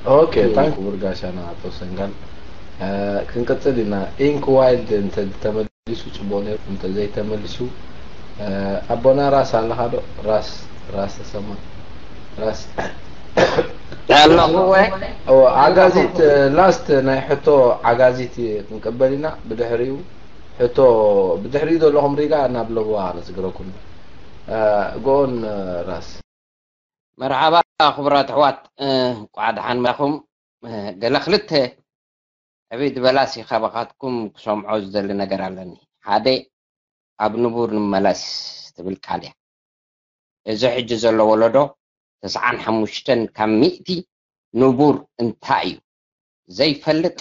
ኦኬ፣ ታንክ ክቡር ጋሻና ኣቶ ሰንጋል። ክንቀጽል ኢና። ኢንክ ዋይልድ እንተ ተመሊሱ ጽቡቕ ነይሩ፣ እንተ ዘይተመሊሱ ኣቦና ራስ ኣለኻ ዶ? ራስ ራስ ተሰማ ራስ ኣለኹ ወይ ዓጋዚት ላስት ናይ ሕቶ ዓጋዚት ክንቀበል ኢና። ብድሕሪኡ ሕቶ ብድሕሪኡ ዘለኹም ሪጋ ናብ ለብዋ ነስግረኩም። ጎን ራስ መርሓባ ክቡራት ኣሕዋት፣ እንቋዕ ደሓን መጻኹም። ገለ ክልተ ዕብይ ዝበላ ሲ ካባኻትኩም ክሰምዖ ዝደሊ ነገር ኣለኒ። ሓደ ኣብ ንቡር ንመለስ ትብል ቃል እያ። እዚ ሕጂ ዘሎ ወለዶ ተስዓን ሓሙሽተን ካብ ሚእቲ ንቡር እንታይ እዩ ዘይፈልጥ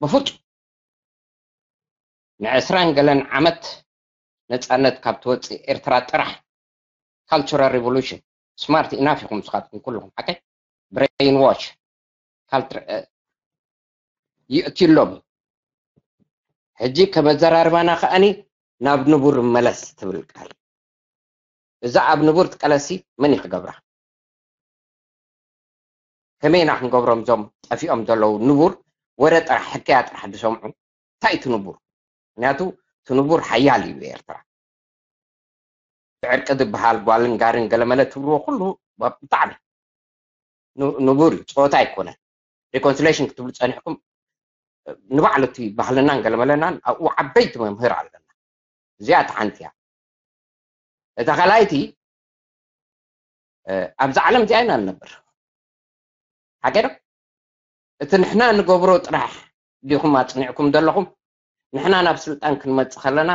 ብፍጹም። ንዕስራን ገለን ዓመት ነጻነት ካብ ትወጽእ ኤርትራ ጥራሕ cultural revolution smart enough ኢኹም ንስኻትኩም ኩልኹም ሓቀይ brainwash culture ይእትሎም። ሕጂ ከመዘራርባና ከኣኒ ናብ ንቡር መለስ ትብል ቃል እዛ ኣብ ንቡር ትቀለሲ መን እዩ ክገብራ? ከመይ ኢና ክንገብሮም እዞም ጠፊኦም ዘለዉ ንቡር ወረ ጥራሕ ሕከያ ጥራሕ ዝሰምዑ እንታይ እዩ እቲ ንቡር? ምክንያቱ እቲ ንቡር ሓያል እዩ ኤርትራ። ዕርቂ ዝበሃል ጓልን ጋርን ገለመለ ትብልዎ ኩሉ ብጣዕሚ ንቡር እዩ፣ ፀወታ ኣይኮነን። reconciliation ክትብሉ ፀኒሕኩም ንባዕሉ እቲ ባህልናን ገለመለናን ኣብኡ ዓበይቲ መምህር ኣለና። እዚኣ እቲ ሓንቲ እያ። እታ ካልኣይቲ ኣብዛ ዓለም እዚኣ ኢና ንነብር። ሓቂ ዶ? እቲ ንሕና ንገብሮ ጥራሕ ዲኹም ኣፅኒዕኩም ዘለኹም? ንሕና ናብ ስልጣን ክንመፅእ ከለና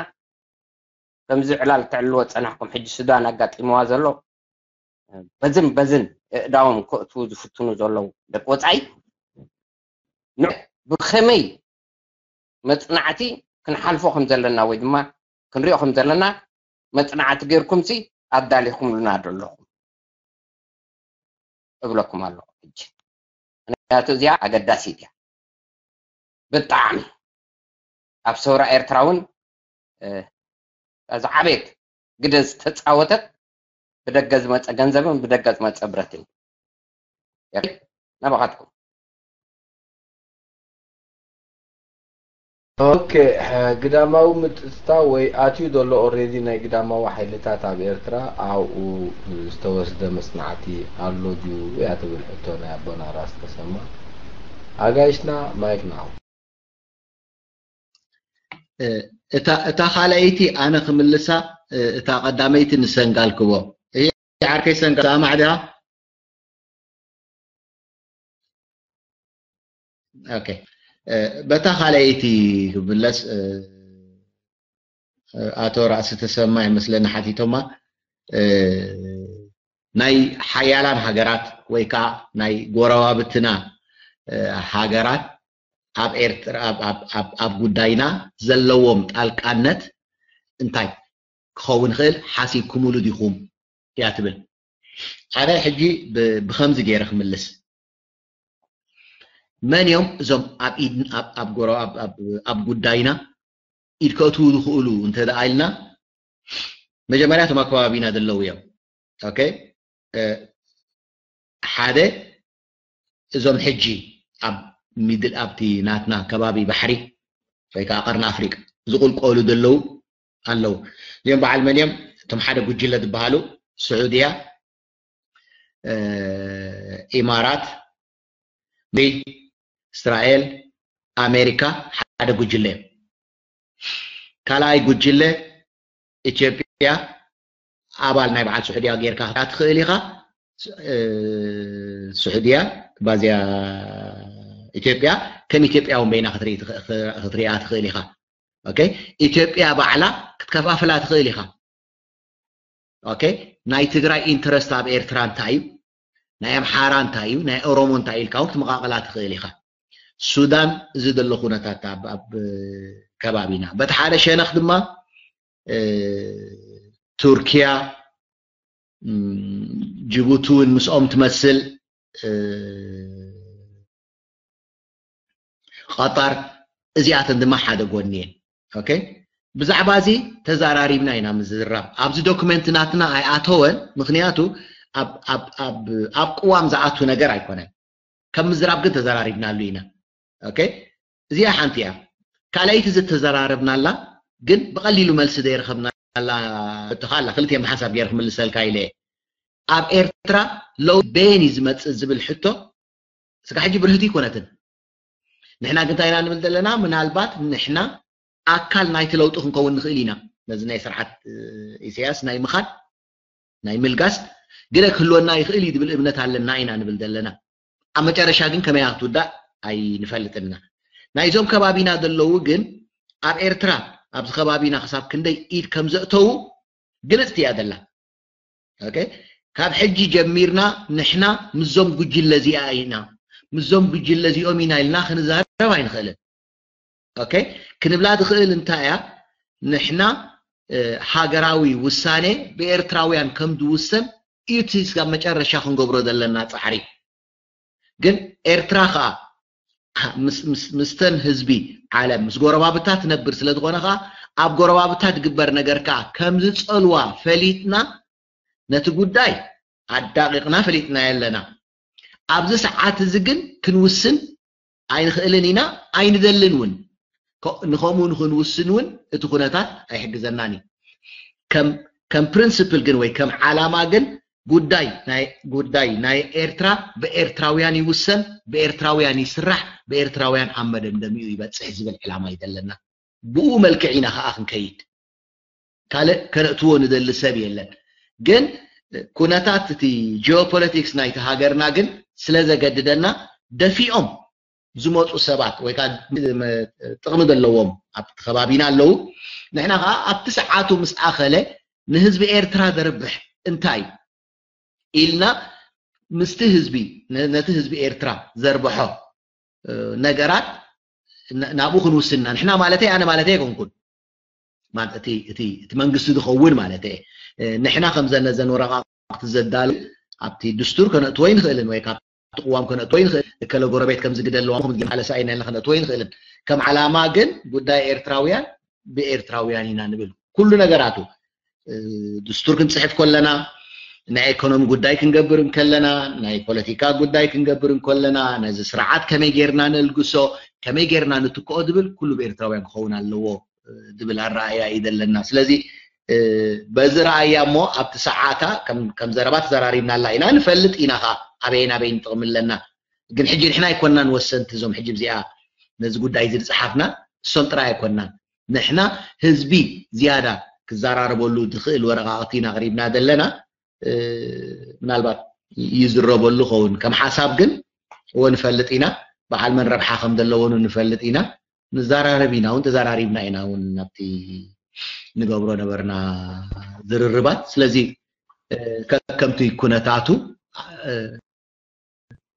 ከምዚ ዕላል ተዕልዎ ፀናሕኩም ሕጂ ሱዳን ኣጋጢምዋ ዘሎ በዝን በዝን እእዳዎም ከእትዉ ዝፍትኑ ዘለዉ ደቂ ወፃኢ ብኸመይ መፅናዕቲ ክንሓልፎ ከም ዘለና ወይ ድማ ክንሪኦ ከም ዘለና መፅናዕቲ ጌርኩም ሲ ኣዳሊኹምልና ዶ ኣለኹም እብለኩም ኣለኹ። ሕጂ ምክንያቱ እዚኣ ኣገዳሲት እያ ብጣዕሚ። ኣብ ሰውራ ኤርትራ እውን ዝዓበየት ግደ ዝተፃወተት ብደገ ዝመፀ ገንዘብን ብደገ ዝመፀ ብረትን ናባኻትኩም። ኦኬ፣ ግዳማዊ ምጥጥታው ወይ ኣትዩ ዘሎ ኦሬዲ ናይ ግዳማዊ ሓይልታት ኣብ ኤርትራ ኣብኡ ዝተወስደ መጽናዕቲ ኣሎ ድዩ እያ ትብል ሕቶ ናይ ኣቦና ራስ ተሰማ። ኣጋይሽና ማይክ ናው። እታ ካልኣይቲ ኣነ ክምልሳ፣ እታ ቀዳመይቲ ንሰንጋል ክቦ። ዓርከይ ሰንጋል ሰማዕ ዲኻ? ኦኬ፣ በታ ካልኣይቲ ክምለስ፣ ኣቶ ራእሲ ተሰማ ይመስለኒ ሓቲቶማ፣ ናይ ሓያላን ሃገራት ወይ ከዓ ናይ ጎረባብትና ሃገራት ኣብ ኤርትራ ኣብ ጉዳይና ዘለዎም ጣልቃነት እንታይ ክኸውን ይኽእል ሓሲብኩምሉ ዲኹም እያ ትብል። ኣነ ሕጂ ብኸምዚ ገይረ ክምልስ፣ መን እዮም እዞም ኣብ ኢድ ኣብ ጎረ ኣብ ጉዳይና ኢድ ከእትዉ ዝኽእሉ እንተ ደኣ ኢልና፣ መጀመርያ እቶም ኣብ ከባቢና ዘለዉ እዮም። ኦኬ፣ ሓደ እዞም ሕጂ ኣብ ሚድል ኣብቲ ናትና ከባቢ ባሕሪ ወይ ከዓ ቀርኒ ኣፍሪቃ ዝቕልቀሉ ዘለዉ ኣለዉ። እዚኦም በዓል መን እዮም? እቶም ሓደ ጉጅለ ዝበሃሉ ስዑድያ፣ ኢማራት፣ እስራኤል፣ ኣሜሪካ ሓደ ጉጅለ እዮም። ካልኣይ ጉጅለ ኢትዮጵያ ኣባል ናይ በዓል ስዑድያ ጌርካ ክትሪኣ ትኽእል ኢኻ። ስዑድያ ባዝያ ኢትዮጵያ ከም ኢትዮጵያ እውን በይና ክትሪኣ ትኽእል ኢኻ። ኦኬ፣ ኢትዮጵያ ባዕላ ክትከፋፍላ ትኽእል ኢኻ። ኦኬ፣ ናይ ትግራይ ኢንተረስት ኣብ ኤርትራ እንታይ እዩ፣ ናይ ኣምሓራ እንታይ እዩ፣ ናይ ኦሮሞ እንታይ ኢልካ እውን ክትመቓቐላ ትኽእል ኢኻ። ሱዳን እዚ ዘሎ ኩነታት ኣብ ከባቢና በቲ ሓደ ሸነኽ ድማ ቱርኪያ፣ ጅቡቲ እውን ምስኦም ትመስል፣ ቐጠር፣ እዚኣተን ድማ ሓደ ጎኒ እየን። ኦኬ፣ ብዛዕባ እዚ ተዛራሪብና ኢና ምዝራብ። ኣብዚ ዶክመንት ናትና ኣይኣተወን፣ ምኽንያቱ ኣብ ኣብ ኣብ ኣብ ቅዋም ዝኣቱ ነገር ኣይኮነን። ከም ምዝራብ ግን ተዘራሪብናሉ ኢና። ኦኬ፣ እዚኣ ሓንቲ እያ። ካልኣይቲ ዝተዘራረብናላ ግን ብቐሊሉ መልሲ ዘይረኸብናላ ሕቶ ከኣ ኣላ። ክልተ ሓሳብ ገይረ ክምልሰልካ ኢለ እየ። ኣብ ኤርትራ ለውጢ በየን እዩ ዝመጽእ ዝብል ሕቶ ስጋ ሕጂ ብርህቲ ኣይኮነትን። ንሕና ግን እንታይ ኢና ንብል ዘለና? ምናልባት ንሕና ኣካል ናይቲ ለውጢ ክንከውን ንኽእል ኢና። ነዚ ናይ ስርዓት ኢሳያስ ናይ ምኻድ ናይ ምልጋስ ግደ ክህልወና ይኽእል እዩ ዝብል እምነት ኣለና ኢና ንብል ዘለና። ኣብ መጨረሻ ግን ከመይ ክትውዳእ ኣይንፈልጥና። ናይዞም ከባቢና ዘለዉ ግን ኣብ ኤርትራ ኣብዚ ከባቢና ክሳብ ክንደይ ኢድ ከም ዘእተዉ ግልጽቲ እያ ዘላ። ኦኬ፣ ካብ ሕጂ ጀሚርና ንሕና ምስዞም ጉጅለ እዚኣ ኢና፣ ምስዞም ጉጅለ እዚኦም ኢና ኢልና ክንዛረብ ኣይንኽእልን። ኦኬ፣ ክንብላ ትኽእል እንታይ እያ? ንሕና ሃገራዊ ውሳኔ ብኤርትራውያን ከም ዝውሰን እዩ እቲ ስጋብ መጨረሻ ክንገብሮ ዘለና ጻዕሪ። ግን ኤርትራ ከኣ ምስ- ምስ- ምስተን ህዝቢ ዓለም ምስ ጎረባብታ ትነብር ስለ ዝኾነ ከኣ ኣብ ጎረባብታ ዝግበር ነገር ከኣ ከም ዝጸልዋ ፈሊጥና ነቲ ጉዳይ ኣዳቂቕና ፈሊጥና ኣለና። ኣብዚ ሰዓት እዚ ግን ክንውስን ኣይንኽእልን ኢና፣ ኣይንደልን እውን። ከ- ንኸምኡ ንኽንውስን እውን እቲ ኩነታት ኣይሕግዘናን እዩ። ከም ከም ፕሪንስፕል ግን ወይ ከም ዓላማ ግን ጉዳይ ናይ ጉዳይ ናይ ኤርትራ ብኤርትራውያን ይውሰን፣ ብኤርትራውያን ይስራሕ፣ ብኤርትራውያን ኣብ መደምደሚኡ ይበጽሕ ዝብል ዕላማ እዩ ዘለና። ብኡ መልክዕ ኢና ከኣ ክንከይድ። ካልእ ከነእትዎ ንደሊ ሰብ የለን። ግን ኩነታት እቲ ጂኦፖለቲክስ ናይቲ ሃገርና ግን ስለ ዘገድደና ደፊኦም ዝመፁ ሰባት ወይ ከዓ ጥቕሚ ዘለዎም ኣብቲ ከባቢና ኣለዉ። ንሕና ከዓ ኣብቲ ሰዓቱ ምስ ኣኸለ ንህዝቢ ኤርትራ ዘርብሕ እንታይ ኢልና ምስቲ ህዝቢ ነቲ ህዝቢ ኤርትራ ዘርብሖ ነገራት ናብኡ ክንውስንና ንሕና ማለተይ ኣነ ማለተይ ኣይኮንኩን እቲ መንግስቲ ዝኸውን ማለት ንሕና ከምዘነዘን ወረቃቅቲ ዘዳል ኣብቲ ድስቱር ከነእትዎ ይንኽእልን ወይ ካብ ቅዋም ከነእትዎ ይንኽእል እከለ ጎረቤት ከምዚ ግደ ኣለዋ ከምዚ ኣለሳ ኢና ኢልና ከነእትዎ ይንኽእልን ከም ዓላማ ግን ጉዳይ ኤርትራውያን ብኤርትራውያን ኢና ንብል ኩሉ ነገራቱ ድስቱር ክንፅሕፍ ከለና ናይ ኢኮኖሚ ጉዳይ ክንገብር እንከለና ናይ ፖለቲካ ጉዳይ ክንገብር እንከለና ነዚ ስርዓት ከመይ ጌርና ነልግሶ ከመይ ጌርና ንትክኦ ዝብል ኩሉ ብኤርትራውያን ክኸውን ኣለዎ ዝብል ኣረኣያ እዩ ዘለና ስለዚ በዚ ረኣያ እሞ ኣብቲ ሰዓታ ከም ዘረባ ተዘራሪብናላ ኢና ንፈልጥ ኢና ከዓ ኣበይን ኣበይን ጥቕሚ ኣለና ግን ሕጂ ንሕና ኣይኮናን ወሰንቲ እዞም ሕጂ እዚኣ ነዚ ጉዳይ እዚ ዝፀሓፍና እሶም ጥራይ ኣይኮናን ንሕና ህዝቢ ዝያዳ ክዘራረበሉ ዝኽእል ወረቃቅቲ ኢና ኣቅሪብና ዘለና ምናልባት ይዝረበሉ ኸውን ከም ሓሳብ ግን እዎ ንፈልጥ ኢና በዓል መን ረብሓ ከም ዘለዎን ንፈልጥ ኢና ንዘራረብ ኢና እውን ተዘራሪብና ኢና እውን ናብቲ ንገብሮ ነበርና ዝርርባት ስለዚ ከምቲ ኩነታቱ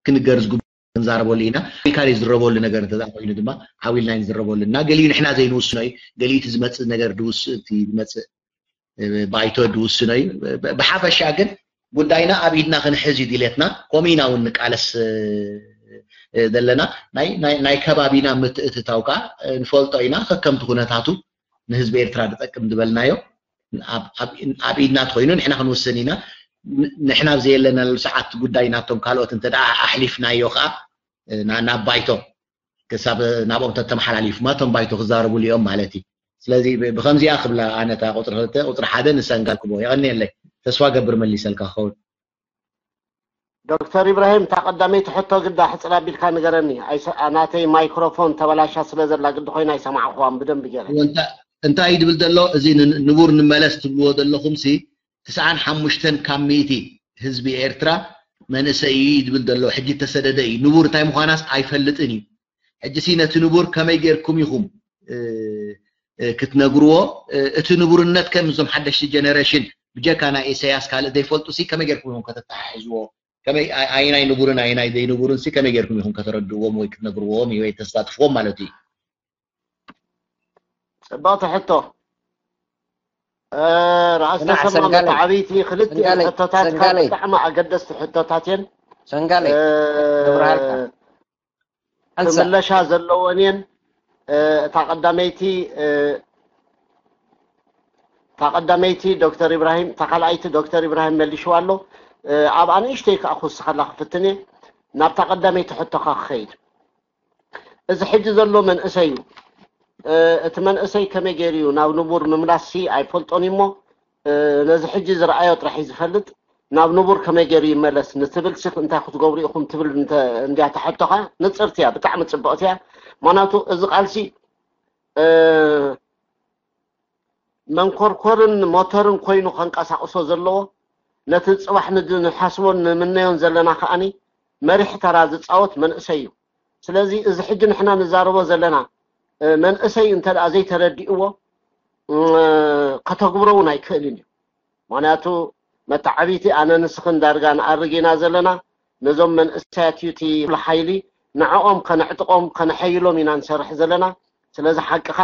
ክንገር ዝግቡ ክንዛረበሉ ኢና ኢልካ ዝረበሉ ነገር እንተ ኮይኑ ድማ ዓው ኢልና ንዝረበሉ እና ገሊኡ ንሕና ዘይንውስኖ እዩ ገሊኡ እቲ ዝመፅእ ነገር ድውስእ እቲ ዝመፅእ ባይቶ ድውስኖ እዩ ብሓፈሻ ግን ጉዳይና ኣብ ኢድና ክንሕዝ እዩ ድሌትና ከምኡ ኢና እውን ንቃለስ ዘለና ናይ ከባቢና ምትእትታው ከዓ ንፈልጦ ኢና ከከምቲ ኩነታቱ ንህዝቢ ኤርትራ ዝጠቅም ዝበልናዮ ኣብ ኢድና ተኮይኑ ንሕና ክንውስን ኢና ንሕና ኣብ ዘየለናሉ ሰዓት ጉዳይ ናብቶም ካልኦት እንተ ኣሕሊፍናዮ ከዓ ናብ ባይቶ ክሳብ ናብኦም ተተመሓላሊፉማ እቶም ባይቶ ክዛረቡሉ እዮም ማለት እዩ ስለዚ ብከምዚኣ ክብላ ኣነታ ቁፅሪ ክልተ ቁፅሪ ሓደ ንሰንጋል ክቦ የቀንየለይ ተስፋ ገብር መሊሰልካ ክኸውን ዶክተር ኢብራሂም እታ ቀዳመይቲ ሕቶ ግዳ ሕፅር ኣቢልካ ንገረኒ ናተይ ማይክሮፎን ተበላሻ ስለ ዘላ ግዲ ኮይና ኣይሰማዕኩዋን ብደንቢ ገረ እንታይ እዩ ድብል ዘሎ እዚ ንቡር ንመለስ ትብልዎ ዘለኹም ሲ ትስዓን ሓሙሽተን ካብ ሚእቲ ህዝቢ ኤርትራ መንእሰይ እዩ ድብል ዘሎ ሕጂ ተሰደደ እዩ ንቡር እንታይ ምዃናስ ኣይፈልጥን እዩ ሕጂ ሲ ነቲ ንቡር ከመይ ጌርኩም ኢኹም ክትነግርዎ እቲ ንቡርነት ከም እዞም ሓደሽቲ ጀነሬሽን ብጀካ ናይ ኢሳያስ ካልእ ዘይፈልጡ ሲ ከመይ ጌርኩም ኢኹም ከተተሓሕዝዎ ከመይ ኣይናይ ንቡርን ኣይናይ ዘይንቡርን ሲ ከመይ ጌርኩም ኢኹም ከተረድእዎም ወይ ክትነግርዎም ወይ ተሳትፍዎም ማለት እዩ ፅብቕቲ ሕቶ ራእሲ ተሰማ መተዓብይቲ ክልቲኤን ሕቶታትካ ብጣዕሚ ኣገደስቲ ሕቶታት እየን ሰንጋለ ክብርሃልካ ክምለሻ ዘለወን እየን እታ ቀዳመይቲ እታ ቀዳመይቲ ዶክተር ኢብራሂም እታ ካልኣይቲ ዶክተር ኢብራሂም መሊሽዋ ኣሎ ኣብ ኣንእሽተይ ከዓ ክውስኸላ ክፍትን እየ። ናብታ ቀዳመይቲ ሕቶኻ ክኸይድ፣ እዚ ሕጂ ዘሎ መንእሰይ እዩ። እቲ መንእሰይ ከመይ ገይሩ እዩ ናብ ንቡር ምምላስ ሲ ኣይፈልጦን እሞ፣ ነዚ ሕጂ ዝረኣዮ ጥራሕ እዩ ዝፈልጥ። ናብ ንቡር ከመይ ገይሩ ይመለስ ንትብል ሲ እንታይ ክትገብሩ ኢኹም ትብል እንድያ ተሕቶኻ፣ ንፅርቲ እያ፣ ብጣዕሚ ፅብቕቲ እያ። ምክንያቱ እዚ ቃልሲ መንኮርኮርን ሞተርን ኮይኑ ከንቀሳቕሶ ዘለዎ፣ ነቲ ፅባሕ ንሓስቦን ንምነዮን ዘለና ከዓኒ መሪሕ ተራ ዝፃወት መንእሰይ እዩ። ስለዚ እዚ ሕጂ ንሕና ንዛረቦ ዘለና መንእሰይ እንተ ዘይተረዲእዎ ከተግብሮ እውን ኣይክእልን እዩ። ምክንያቱ መተዓቢቲ ኣነ ንስኽን ዳርጋ ንኣርግ ኢና ዘለና። ነዞም መንእሰያት እዩ እቲ ሓይሊ፣ ንዕኦም ከነዕጥቖም ከነሐይሎም ኢና ንሰርሕ ዘለና። ስለዚ ሓቅኻ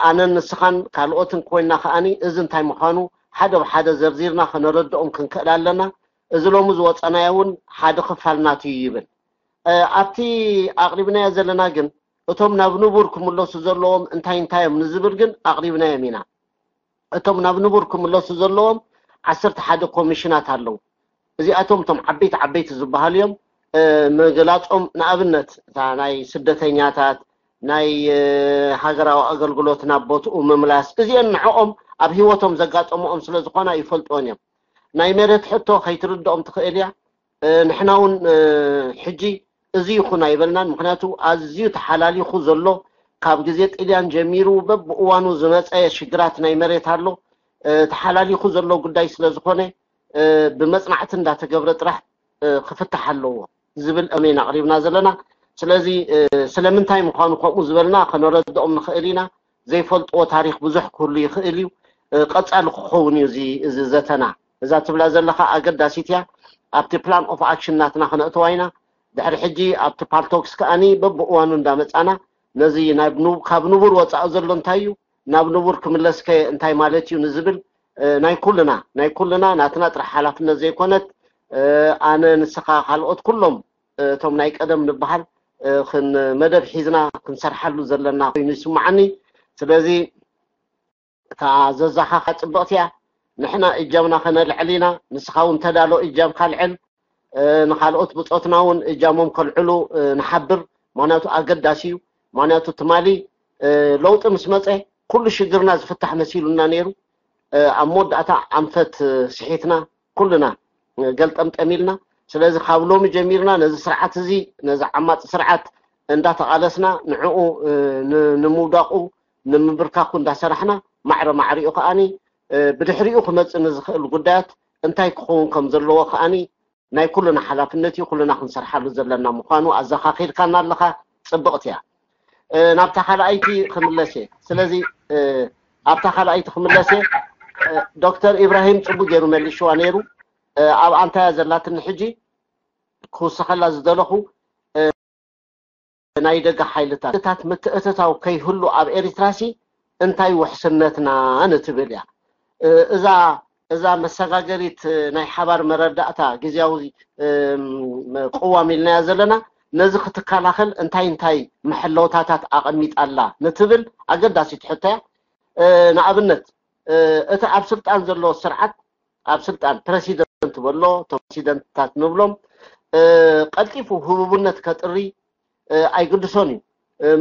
ኣነን ንስኻን ካልኦትን ኮይና ከዓኒ እዚ እንታይ ምዃኑ ሓደ ብሓደ ዘርዚርና ከነረድኦም ክንክእል ኣለና። እዚ ሎሚ ዝወፀናዮ እውን ሓደ ክፋል ናቱ እዩ ይብል። ኣብቲ ኣቕሪብናዮ ዘለና ግን እቶም ናብ ንቡር ክምለሱ ዘለዎም እንታይ እንታይ እዮም ንዝብል ግን ኣቕሪብናዮም ኢና። እቶም ናብ ንቡር ክምለሱ ዘለዎም ዓሰርተ ሓደ ኮሚሽናት ኣለዉ። እዚኣቶም እቶም ዓበይቲ ዓበይቲ ዝበሃሉ እዮም። ምግላፆም ንኣብነት እታ ናይ ስደተኛታት፣ ናይ ሃገራዊ ኣገልግሎት ናብ ቦትኡ ምምላስ፣ እዚአን ንዕኦም ኣብ ህይወቶም ዘጋጠምኦም ስለ ዝኾና ይፈልጥዎን እዮም። ናይ መሬት ሕቶ ከይትርድኦም ትኽእል እያ። ንሕና እውን ሕጂ እዚ ይኹን ኣይበልናን። ምክንያቱ ኣዝዩ ተሓላሊኹ ዘሎ፣ ካብ ግዜ ጥልያን ጀሚሩ በብእዋኑ ዝመፀ ሽግራት ናይ መሬት ኣሎ። ተሓላሊኹ ዘሎ ጉዳይ ስለ ዝኾነ ብመፅናዕቲ እንዳተገብረ ጥራሕ ክፍታሕ ኣለዎ ዝብል እሜን ኣቕሪብና ዘለና። ስለዚ ስለምንታይ ምዃኑ ከምኡ ዝበልና ከነረድኦም ንኽእል ኢና። ዘይፈልጥዎ ታሪክ ብዙሕ ክህሉ ይኽእል እዩ። ቀፃሊ ክኸውን እዩ እዚ ዘተና። እዛ ትብላ ዘለኻ ኣገዳሲት እያ። ኣብቲ ፕላን ኦፍ ኣክሽን ናትና ክነእተዋ ኢና። ድሕሪ ሕጂ ኣብቲ ፓልቶክስ ከኣኒ በብእዋኑ እንዳመፃና ነዚ ካብ ንቡር ወፃኢ ዘሎ እንታይ እዩ፣ ናብ ንቡር ክምለስከ እንታይ ማለት እዩ ንዝብል ናይ ኩልና ናይ ኩልና ናትና ጥራሕ ሓላፍነት ዘይኮነት፣ ኣነ፣ ንስኻ፣ ካልኦት ኩሎም እቶም ናይ ቀደም ንበሃል መደብ ሒዝና ክንሰርሓሉ ዘለና ኮይኑ ይስማዓኒ። ስለዚ እታ ዘዛኻኻ ፅብቕቲ እያ። ንሕና እጃምና ከነልዕል ኢና። ንስኻ እውን ተዳሎ እጃምካ ልዕል። ንኻልኦት ብፆትና እውን እጃሞም ከልዕሉ ንሓብር። ምክንያቱ ኣገዳሲ እዩ። ምክንያቱ ትማሊ ለውጢ ምስ መፀ ኩሉ ሽግርና ዝፍታሕ መሲሉና ነይሩ። ኣብ መወዳእታ ኣንፈት ስሒትና ኩልና ገልጠምጠም ኢልና። ስለዚ ካብ ሎሚ ጀሚርና ነዚ ስርዓት እዚ፣ ነዚ ዓማፂ ስርዓት እንዳተቓለስና ንዕኡ ንምውዳቑ ንምብርካኩ እንዳሰራሕና፣ ማዕረ ማዕሪኡ ከኣኒ ብድሕሪኡ ክመፅእ ንዝኽእል ጉዳያት እንታይ ክኸውን ከም ዘለዎ ከኣኒ ናይ ኩልና ሓላፍነት እዩ። ኩልና ክንሰርሓሉ ዘለና ምዃኑ ኣዘኻኺርካና ኣለኻ። ፅብቕቲ እያ። ናብታ ካልኣይቲ ክምለስ እየ። ስለዚ ኣብታ ካልኣይቲ ክምለስ እየ። ዶክተር ኢብራሂም ፅቡቅ ገይሩ መሊሽዋ ነይሩ። ኣብ ኣንታያ ዘላትኒ ሕጂ ክውስኸላ ዝደለኹ ናይ ደገ ሓይልታት ምትእትታው ከይህሉ ኣብ ኤሪትራሲ እንታይ ውሕስነትና ንትብል እያ። እዛ እዛ መሰጋገሪት ናይ ሓባር መረዳእታ ግዜያዊ ቅዋም ኢልናያ ዘለና፣ ነዚ ክትከላኸል እንታይ እንታይ መሐለውታታት ኣቐሚጣላ ንትብል ኣገዳሲት ሕቶ እያ። ንኣብነት እቲ ኣብ ስልጣን ዘሎ ስርዓት፣ ኣብ ስልጣን ፕረሲደንት በሎ፣ እቶም ፕረሲደንትታት ንብሎም፣ ቀልጢፉ ህቡብነት ከጥሪ ኣይግድሶን እዩ።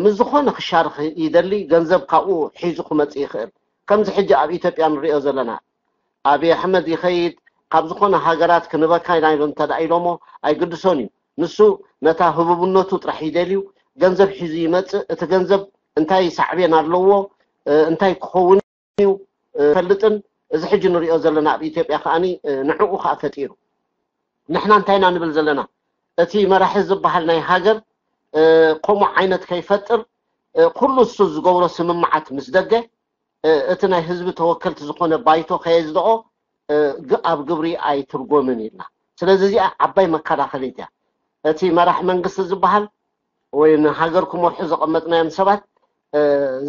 ምስ ዝኾነ ክሻርኽ ይደሊ፣ ገንዘብ ካብኡ ሒዙ ክመፅእ ይኽእል። ከምዚ ሕጂ ኣብ ኢትዮጵያ ንሪኦ ዘለና፣ ኣብይ ኣሕመድ ይኸይድ፣ ካብ ዝኾነ ሃገራት ክንበካ ኢና ኢሎም እንተ ደኣ ኢሎሞ ኣይግድሶን እዩ። ንሱ ነታ ህቡብነቱ ጥራሕ ይደልዩ። ገንዘብ ሒዙ ይመፅእ። እቲ ገንዘብ እንታይ ሳዕቤን ኣለዎ፣ እንታይ ክኸውን እዩ ፈልጥን፣ እዚ ሕጂ ንሪኦ ዘለና ኣብ ኢትዮጵያ ከኣኒ ንዕኡ ከዓ ፈጢሩ። ንሕና እንታይ ኢና ንብል ዘለና? እቲ መራሒ ዝበሃል ናይ ሃገር ከምኡ ዓይነት ከይፈጥር፣ ኩሉ እሱ ዝገብሮ ስምምዓት ምስ ደገ እቲ ናይ ህዝቢ ተወከልቲ ዝኾነ ባይቶ ከየዝደኦ ኣብ ግብሪ ኣይትርጎምን ኢልና። ስለዚ እዚኣ ዓባይ መከላኸሊት እያ። እቲ መራሕ መንግስቲ ዝበሃል ወይ ንሃገር ክመርሑ ዘቐመጥናዮም ሰባት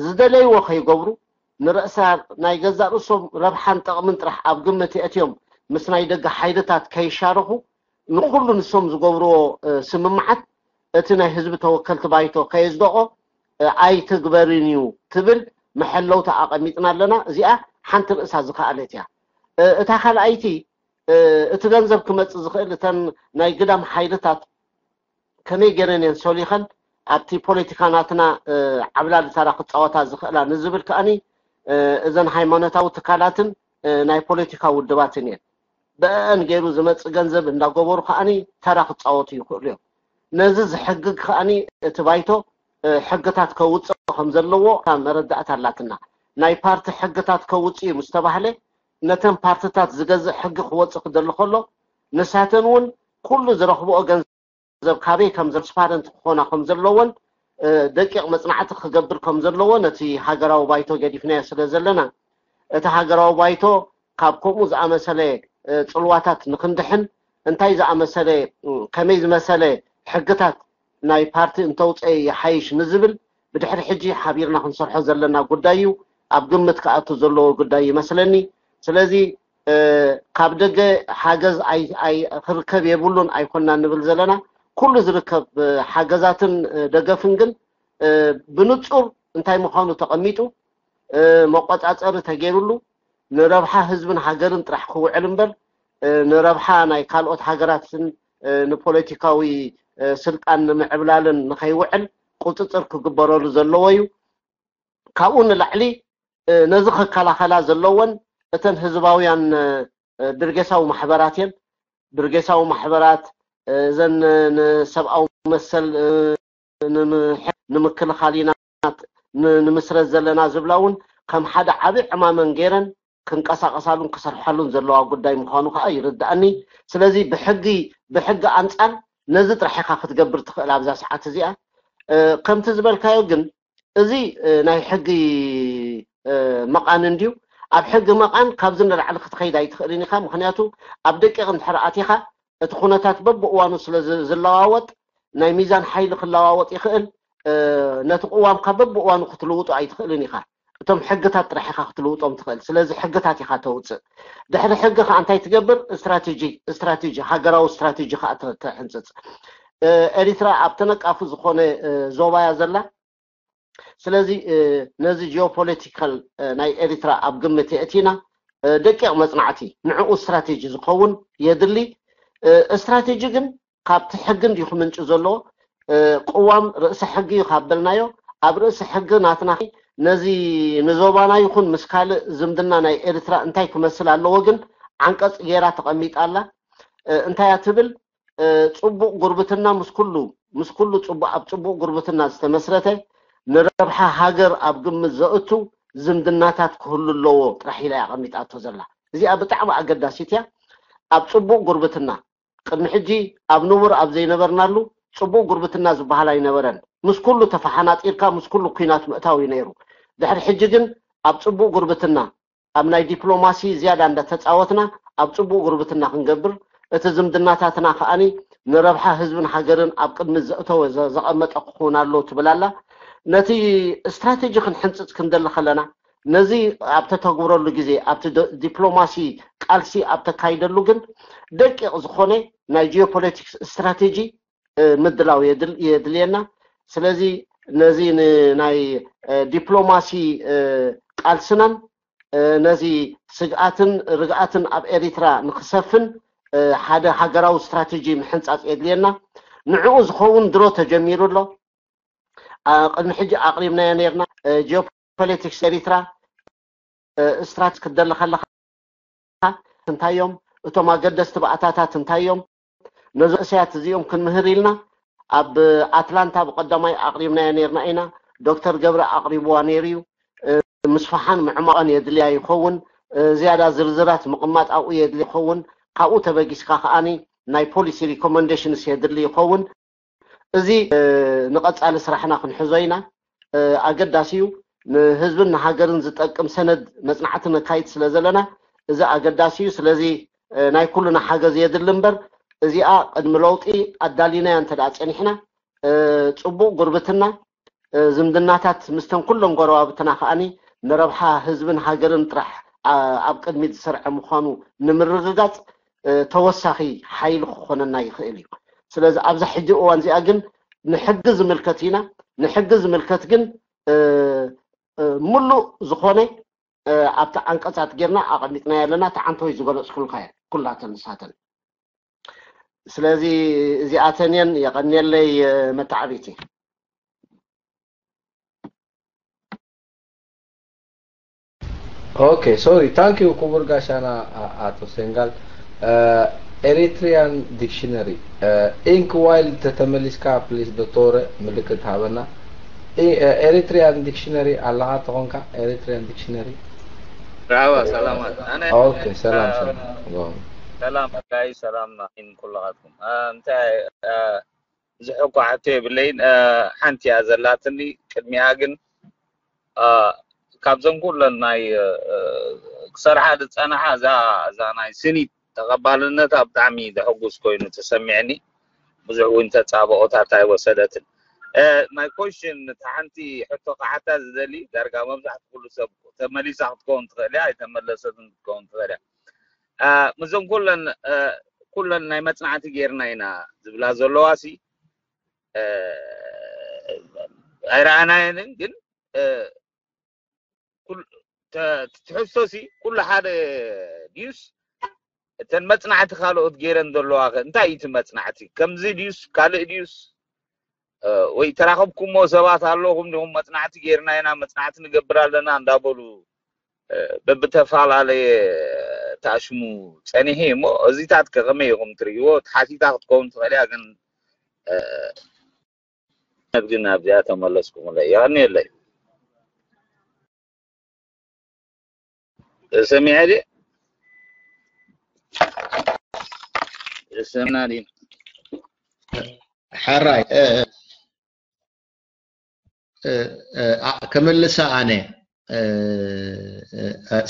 ዝደለይዎ ከይገብሩ፣ ንርእሳ ናይ ገዛእ ርእሶም ረብሓን ጠቕምን ጥራሕ ኣብ ግምት የእትዮም ምስ ናይ ደገ ሓይልታት ከይሻረኹ፣ ንኹሉ ንሶም ዝገብርዎ ስምምዓት እቲ ናይ ህዝቢ ተወከልቲ ባይቶ ከየዝደቆ ኣይትግበርን እዩ ትብል መሐለውታ ኣቐሚጥና ኣለና። እዚኣ ሓንቲ ርእሳ ዝኸኣለት እያ። እታ ካልኣይቲ እቲ ገንዘብ ክመፅእ ዝኽእል እተን ናይ ግዳም ሓይልታት ከመይ ገይረን እየን ሰሊኸን ኣብቲ ፖለቲካ ናትና ዓብላሊ ተራ ክፃወታ ዝኽእላ ንዝብል ከኣኒ እዘን ሃይማኖታዊ ትካላትን ናይ ፖለቲካ ውድባትን እየን። ብአን ገይሩ ዝመፅእ ገንዘብ እንዳገበሩ ከኣኒ ተራ ክፃወቱ ይኽእሉ እዮም። ነዚ ዝሕግግ ከኣኒ እቲ ባይቶ ሕግታት ከውፅእ ከም ዘለዎ መረዳእታ ኣላትና። ናይ ፓርቲ ሕግታት ከውፅእ እዩ ምስ ተባህለ ነተን ፓርትታት ዝገዝእ ሕጊ ክወፅእ ክደሊ ከሎ ንሳተን እውን ኩሉ ዝረኽብኦ ገንዘብ ካበይ ከም ዘስፓረንት ክኾና ከም ዘለዎን ደቂቕ መፅናዕቲ ክገብር ከም ዘለዎ ነቲ ሃገራዊ ባይቶ ገዲፍናዮ ስለ ዘለና እቲ ሃገራዊ ባይቶ ካብ ከምኡ ዝኣመሰለ ፅልዋታት ንክንድሕን እንታይ ዝኣመሰለ ከመይ ዝመሰለ ሕግታት ናይ ፓርቲ እንተውፀ ይሓይሽ ንዝብል ብድሕሪ ሕጂ ሓቢርና ክንሰርሖ ዘለና ጉዳይ እዩ። ኣብ ግምት ክኣቱ ዘለዎ ጉዳይ ይመስለኒ። ስለዚ ካብ ደገ ሓገዝ ክርከብ የብሉን ኣይኮና ንብል ዘለና። ኩሉ ዝርከብ ሓገዛትን ደገፍን ግን ብንፁር እንታይ ምዃኑ ተቐሚጡ መቆፃፀሪ ተገይሩሉ ንረብሓ ህዝብን ሃገርን ጥራሕ ክውዕል እምበር ንረብሓ ናይ ካልኦት ሃገራትን ንፖለቲካዊ ስልጣን ንምዕብላልን ንኸይውዕል ቁፅፅር ክግበረሉ ዘለዎ እዩ። ካብኡ ንላዕሊ ነዚ ክከላኸላ ዘለወን እተን ህዝባውያን ብርጌሳዊ ማሕበራት እየን። ብርጌሳዊ ማሕበራት እዘን ንሰብኣዊ መሰል ንምክልኻል ኢና ንምስረት ዘለና ዝብላ እውን ከም ሓደ ዓብዪ ዕማመን ገይረን ክንቀሳቀሳሉን ክሰርሓሉን ዘለዋ ጉዳይ ምዃኑ ከዓ ይርዳእኒ። ስለዚ ብሕጊ ብሕጊ ኣንፃር ነዚ ጥራሕ ኢካ ክትገብር ትኽእል ኣብዛ ሰዓት እዚኣ። ከምቲ ዝበልካዮ ግን እዚ ናይ ሕጊ መቓን እንድዩ። ኣብ ሕጊ መቓን ካብዚ ንላዕሊ ክትኸይድ ኣይትኽእልን ኢኻ። ምክንያቱ ኣብ ደቂቕ እንድሕር ኣቲኻ እቲ ኩነታት በብእዋኑ ስለ ዝለዋወጥ ናይ ሚዛን ሓይሊ ክለዋወጥ ይኽእል። ነቲ ቅዋምካ በብእዋኑ ክትልውጦ ኣይትኽእልን ኢኻ። እቶም ሕግታት ጥራሕ ኢኻ ክትልውጦም ትኽእል። ስለዚ ሕግታት ኢኻ ተውፅእ። ድሕሪ ሕጊ ከዓ እንታይ ትገብር? ስትራቴጂ ስትራቴጂ ሃገራዊ ስትራቴጂ ከዓ ተሕንፅፅ። ኤሪትራ ኣብ ተነቃፊ ዝኾነ ዞባያ ዘላ። ስለዚ ነዚ ጂኦፖለቲካል ናይ ኤሪትራ ኣብ ግምት የእቲና ደቂቕ መፅናዕቲ ንዕኡ ስትራቴጂ ዝኸውን የድሊ። ስትራቴጂ ግን ካብቲ ሕጊ እንዲዩ ክምንጭ ዘለዎ። ቅዋም ርእሰ ሕጊ እዩ ካብ በልናዮ ኣብ ርእሰ ሕጊ ናትና ነዚ ንዞባና ይኹን ምስ ካልእ ዝምድና ናይ ኤርትራ እንታይ ክመስል ኣለዎ ግን ዓንቀፅ ገይራ ተቐሚጣ ኣላ። እንታይ እያ ትብል? ፅቡቕ ጉርብትና ምስ ኩሉ ምስ ኩሉ ፅቡቕ ኣብ ፅቡቕ ጉርብትና ዝተመስረተ ንረብሓ ሃገር ኣብ ግምት ዘእቱ ዝምድናታት ክህሉ ኣለዎ ጥራሕ ኢላ እያ ኣቐሚጣቶ ዘላ። እዚኣ ብጣዕሚ ኣገዳሲት እያ። ኣብ ፅቡቕ ጉርብትና ቅድሚ ሕጂ ኣብ ንቡር ኣብ ዘይነበርናሉ ፅቡቕ ጉርብትና ዝበሃል ኣይነበረን። ምስ ኩሉ ተፈሓናጢርካ ምስ ኩሉ ኲናት ምእታው እዩ ነይሩ። ድሕሪ ሕጂ ግን ኣብ ፅቡቕ ጉርብትና ኣብ ናይ ዲፕሎማሲ ዝያዳ እንዳተፃወትና ኣብ ፅቡቕ ጉርብትና ክንገብር እቲ ዝምድናታትና ከዓኒ ንረብሓ ህዝብን ሃገርን ኣብ ቅድሚ ዘእተወ ዘቐመጠ ክኸውን ኣለዎ ትብል ኣላ። ነቲ ስትራቴጂ ክንሕንፅፅ ክንደሊ ከለና ነዚ ኣብ ተተግብረሉ ግዜ ኣብቲ ዲፕሎማሲ ቃልሲ ኣብ ተካይደሉ ግን ደቂቕ ዝኾነ ናይ ጂኦፖለቲክስ ስትራቴጂ ምድላው የድልየና። ስለዚ ነዚ ናይ ዲፕሎማሲ ቃልስናን ነዚ ስግኣትን ርግኣትን ኣብ ኤሪትራ ንክሰፍን ሓደ ሃገራዊ ስትራቴጂ ምሕንፃፅ የድልየና። ንዕኡ ዝኸውን ድሮ ተጀሚሩ ኣሎ። ቅድሚ ሕጂ ኣቕሪብናዮ ነርና። ጂኦፖለቲክስ ኤሪትራ ስትራቴጂ ክትደሊ ከለካ እንታይ እዮም እቶም ኣገደስቲ ባእታታት እንታይ እዮም ነዚ ርእስያት እዚኦም ክንምህር ኢልና ኣብ ኣትላንታ ብቀዳማይ ኣቕሪብናዮ ነርና ኢና። ዶክተር ገብረ ኣቕሪብዋ ነይሩ እዩ። ምስፋሓን ምዕማቐን የድልያ ይኸውን። ዝያዳ ዝርዝራት ምቕማጥ ኣብኡ የድሊ ይኸውን። ካብኡ ተበጊስካ ከዓኒ ናይ ፖሊሲ ሪኮመንዴሽንስ የድሊ ይኸውን። እዚ ንቐፃሊ ስራሕና ክንሕዞ ኢና። ኣገዳሲ እዩ። ንህዝብን ንሃገርን ዝጠቅም ሰነድ መፅናዕቲ ነካይድ ስለ ዘለና እዚ ኣገዳሲ እዩ። ስለዚ ናይ ኩሉና ሓገዝ የድሊ እምበር እዚኣ ቅድሚ ለውጢ ኣዳሊናያ እንተ ደኣ ፀኒሕና ፅቡቕ ጉርብትና ዝምድናታት ምስተን ኩለን ጎረባብትና ከዓኒ ንረብሓ ህዝብን ሃገርን ጥራሕ ኣብ ቅድሚት ዝሰርዐ ምዃኑ ንምርግጋፅ ተወሳኺ ሓይሊ ክኾነና ይኽእል እዩ። ስለዚ ኣብዛ ሕጂ እዋን እዚኣ ግን ንሕጊ ዝምልከት ኢና። ንሕጊ ዝምልከት ግን ምሉእ ዝኾነ ኣብቲ ዓንቀፃት ጌርና ኣቐሚጥናዮ ኣለና። እቲ ዓንተወይ ዝገለፅኩልካ እየ። ኩላተን ንሳተን። ስለዚ እዚኣተን እየን። የቐንየለይ መተዓቢቲ። Okay, sorry. Thank you ክቡር ጋሻና ኣቶ ሴንጋል። Eritrean dictionary, ink while ተተመሊስካ please ዶክተር ምልክት ሃበና። Eritrean dictionary ኣለኻ ተኾንካ? Eritrean dictionary. ራዋ ሰላማት። ኣነ Okay, ሰላም ሰላም። ሰላም ጋይ ሰላም ናኪን ኩላኻትኩም። እንታይ ብዙሕ እኳ ሕቶ የብለይን። ሓንቲ እያ ዘላትኒ። ቅድሚኣ ግን ካብዘን ኩለን ናይ ክሰርሓ ዝፀናሓ እዛ እዛ ናይ ስኒት ተቐባልነታ ብጣዕሚ ዘሐጉስ ኮይኑ ተሰሚዕኒ። ብዙሕ እውን ተፃብኦታት ኣይወሰደትን። My question፣ እቲ ሓንቲ ሕቶ ክሓታ ዝደሊ ዳርጋ መብዛሕትኡ ኩሉ ሰብ ተመሊሳ ክትከውን ትኽእል እያ፣ ኣይተመለሰትን ክትከውን ትኽእል እያ። ምዞም ኩለን ኩለን ናይ መፅናዕቲ ጌርና ኢና ዝብላ ዘለዋ ሲ ኣይረኣናየንን፣ ግን ትሕዝቶ ሲ ኩሉ ሓደ ድዩስ እተን መፅናዕቲ ካልኦት ጌረን ዘለዋ ከ እንታይ እዩ እቲ መፅናዕቲ? ከምዚ ድዩስ ካልእ ድዩስ ወይ ተራኸብኩሞ ሰባት ኣለኹም ዲኹም መፅናዕቲ ጌርና ኢና መፅናዕቲ ንገብር ኣለና እንዳበሉ በብተፈላለየ ተኣሽሙ ፀኒሑ እሞ እዚታት ከ ከመይ ኢኹም ትርእይዎ? ሓቲታ ክትከውን ትኽእል እያ ግን ግን ኣብዚኣ ተመለስኩምለይ። የቐንየለይ። ሰሚዐ ድየ? ሰምና ድዩ? ሕራይ ከመልሳ ኣነ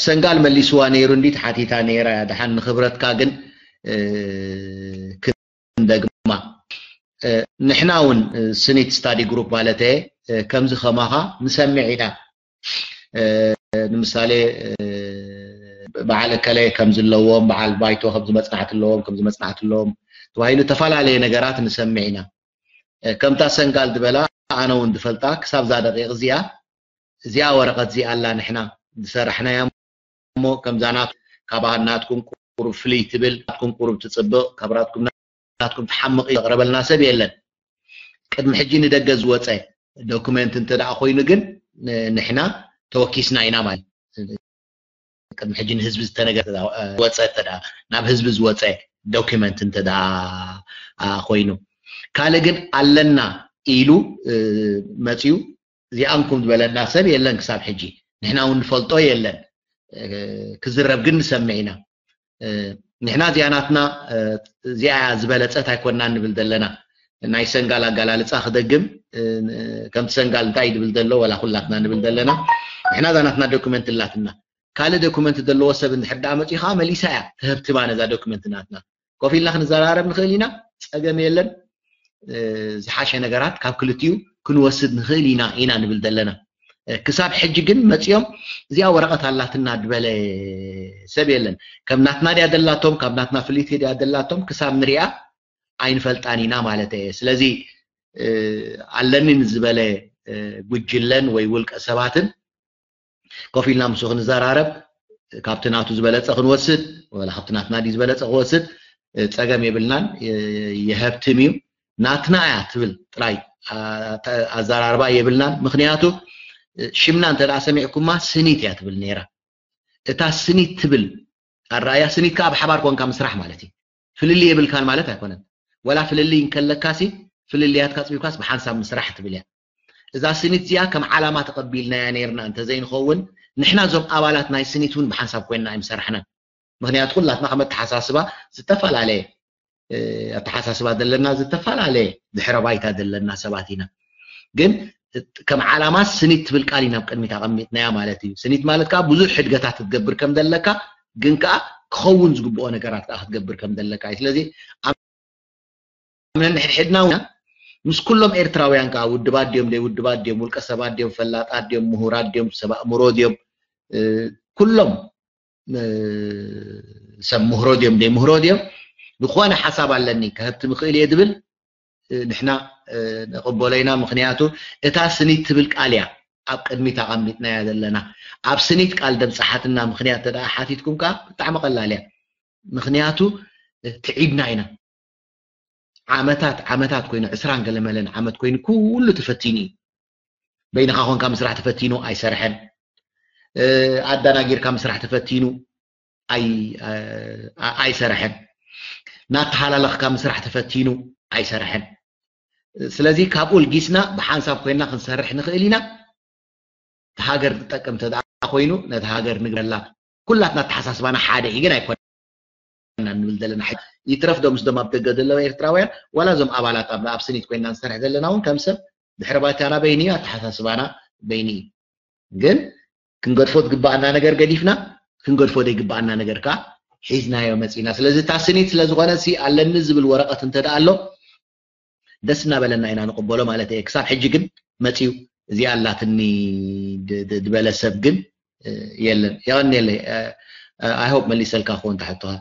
ሰንጋል መሊስዋ ነይሩ እንዲ ተሓቲታ ነይራ። ድሓን ንክብረትካ ግን ክንደግማ፣ ንሕና እውን ስኒት ስታዲ ግሩፕ ማለት ከምዚ ከማኻ ንሰምዕ ኢና። ንምሳሌ በዓል እከለ ከም ዘለዎም፣ በዓል ባይቶ ከም ዝመጽናዕቲ ኣለዎም፣ ከም ዝመጽናዕቲ ኣለዎም ተባሂሉ ተፈላለየ ነገራት ንሰምዕ ኢና። ከምታ ሰንጋል ዝበላ ኣነ እውን ዝፈልጣ ክሳብ እዛ ደቂቕ እዚኣ እዚኣ ወረቐት እዚኣ ኣላ ንሕና ዝሰራሕናያ እሞ ከምዛ ናት ካባኻ ናትኩም ቁሩብ ፍልይ ትብል ናትኩም ቁሩብ ትጽብቕ ካብ ናትኩም ናትኩም ትሓምቕ ዘቕረበልና ሰብ የለን። ቅድሚ ሕጂ ንደገ ዝወፀ ዶክመንት እንተ ደኣ ኮይኑ ግን ንሕና ተወኪስና ኢና ማለት ቅድሚ ሕጂ ንህዝቢ ዝተነገረ ወፀ እተ ናብ ህዝቢ ዝወፀ ዶክመንት እንተ ኮይኑ ካልእ ግን ኣለና ኢሉ መፅዩ እዚኣንኩም ዝበለና ሰብ የለን ክሳብ ሕጂ ንሕና እውን ንፈልጦ የለን ክዝረብ ግን ንሰምዕ ኢና ንሕና እዚኣ ናትና እዚኣ ዝበለፀት ኣይኮንና ንብል ዘለና ናይ ሰንጋል ኣጋላልፃ ክደግም ከምቲ ሰንጋል እንታይ ድብል ዘሎ ወላ ኩላትና ንብል ዘለና ንሕና እዛ ናትና ዶክመንት ላትና ካልእ ዶክመንት ዘለዎ ሰብ እንድሕር ደኣ መፂኡ ከዓ መሊሳ እያ ትህብትማ ነዛ ዶክመንት ናትና ኮፍ ኢልና ክንዘራረብ ንኽእል ኢና ፀገም የለን ዝሓሸ ነገራት ካብ ክልቲኡ ክንወስድ ንኽእል ኢና ኢና ንብል ዘለና ክሳብ ሕጂ ግን መፂኦም እዚኣ ወረቐት ኣላትና ዝበለ ሰብ የለን ከም ናትና ድያ ደላቶም ካብ ናትና ፍልይቲ ድያ ደላቶም ክሳብ ንሪኣ ኣይንፈልጣን ኢና ማለት እየ ስለዚ ኣለኒ ንዝበለ ጉጅለን ወይ ውልቀ ሰባትን ኮፍ ኢልና ምስኡ ክንዘራረብ ካብቲ ናቱ ዝበለፀ ክንወስድ ወላ ካብቲ ናትና ድዩ ዝበለፀ ክወስድ ፀገም የብልናን የሀብትም እዩ ናትና እያ ትብል ጥራይ ኣዘራርባ የብልናን ምክንያቱ ሽምና እንተ ሰሚዕኩማ ስኒት እያ ትብል ነይራ እታ ስኒት ትብል ኣረኣያ ስኒት ከዓ ብሓባር ኮንካ ምስራሕ ማለት እዩ ፍልልይ የብልካን ማለት ኣይኮነን ወላ ፍልልይ እንከለካሲ ፍልልያትካ ፅቢብካስ ብሓንሳብ ምስራሕ ትብል እያ እዛ ስኒት እዚኣ ከም ዓላማ ተቐቢልናያ ነይርና እንተዘይንኸውን ንሕና እዞም ኣባላት ናይ ስኒት እውን ብሓንሳብ ኮይንና ኣይምሰራሕናን ምክንያቱ ኩላትና ከም ኣተሓሳስባ ዝተፈላለየ ኣተሓሳስባ ዘለና ዝተፈላለየ ድሕረ ባይታ ዘለና ሰባት ኢና ግን ከም ዓላማ ስኒት ትብል ቃል ኢና ኣብ ቅድሚት ኣቐሚጥናያ ማለት እዩ ስኒት ማለት ከዓ ብዙሕ ሕድገታት ክትገብር ከም ዘለካ ግን ከዓ ክኸውን ዝግብኦ ነገራት ከዓ ክትገብር ከም ዘለካ እዩ ስለዚ ኣብ ነንሕድሕድና እውን ምስ ኩሎም ኤርትራውያን ከዓ ውድባት ድዮም ደይ ውድባት ድዮም ውልቀ ሰባት ድዮም ፈላጣት ድዮም ምሁራት ድዮም ሰብ ኣእምሮ ድዮም ኩሎም ሰብ ምህሮ ድዮም ደይ ምህሮ ድዮም ዝኾነ ሓሳብ ኣለኒ ከህብቲ ምኽእል እየ ዝብል ንሕና ንቕበሎ ኢና ምክንያቱ እታ ስኒት ትብል ቃል እያ ኣብ ቅድሚት ኣቐሚጥናያ ዘለና ኣብ ስኒት ቃል ደብፅሓትና ምክንያት ተደኣ ሓቲትኩም ከዓ ብጣዕሚ ቀላል እያ ምኽንያቱ ትዒብና ኢና። ዓመታት ዓመታት ኮይኑ ዕስራን ገለመለን ዓመት ኮይኑ ኩሉ ተፈቲኑ እዩ። በይንኻ ኮንካ ምስራሕ ተፈቲኑ ኣይሰርሐን። ኣዳናጊርካ ምስራሕ ተፈቲኑ ኣይሰርሐን። ናተሃላለኽካ ምስራሕ ተፈቲኑ ኣይሰርሐን። ስለዚ ካብኡ ልጊስና ብሓንሳብ ኮይና ክንሰርሕ ንኽእል ኢና። ሃገር ትጠቅም ተደኣ ኮይኑ ነቲ ሃገር ንግበረላ። ኩላትና ኣተሓሳስባና ሓደ እዩ ግን ኣይኮነ ንብል ዘለና። ይትረፍ ዶ ምስዶም ኣብ ደገ ዘለዉ ኤርትራውያን ዋላ እዞም ኣባላት ኣብ ኣብስኒት ኮይና ንሰርሕ ዘለና እውን ከም ሰብ ድሕሪ ባይታና በይኒ እዩ፣ ኣተሓሳስባና በይኒ እዩ። ግን ክንገድፎ ዝግባኣና ነገር ገዲፍና ክንገድፎ ዘይግባኣና ነገር ከዓ ሒዝናዮ መፂና። ስለዚ እታ ስኒት ስለዝኾነ ሲ ኣለኒ ዝብል ወረቐት እንተ ደኣ ኣሎ ደስ እናበለና ኢና ንቕበሎ ማለት እየ። ክሳብ ሕጂ ግን መፂኡ እዚኣ ኣላትኒ ዝበለ ሰብ ግን የለን። የቐንየለይ። I hope መሊሰልካ ክኾን ተሕቶኻ።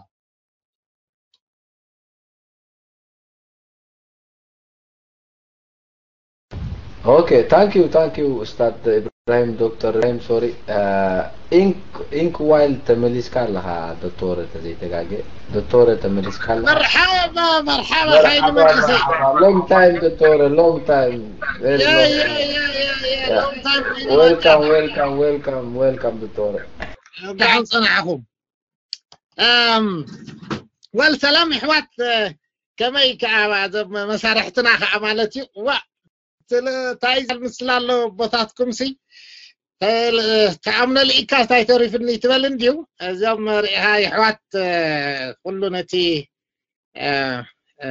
Okay, thank you, thank you, Ustad Ibrahim, Doctor Ibrahim, sorry. Uh, Ink Ink Wild ተመሊስካ ኣለኻ ዶክተር ተዘይተጋገ ዶክተር ተመሊስካ ኣለኻ። መርሓባ መርሓባ ሓይሊ መንእሰይ። Long time ዶክተር፣ long time. Very Yeah, long yeah, time. yeah, yeah, yeah. Yeah. Long time. Welcome, welcome, welcome, welcome ዶክተር። ደሓን ጸናሕኹም። እም፣ ወል ሰላም ይሕዋት፣ እ፣ ከመይ ከኣ እዞም መሳርሕትና ከኣ ማለት እዩ። ዋ፣ ስለ ታይ ምስላ ኣሎ ቦታትኩም ሲ ተኣምነ ልኢካ ታይ ተሪፍኒ ትበል እንድዩ። እዞም ርኢኻ ይሕዋት፣ እ፣ ኩሉ ነቲ እ፣ እ፣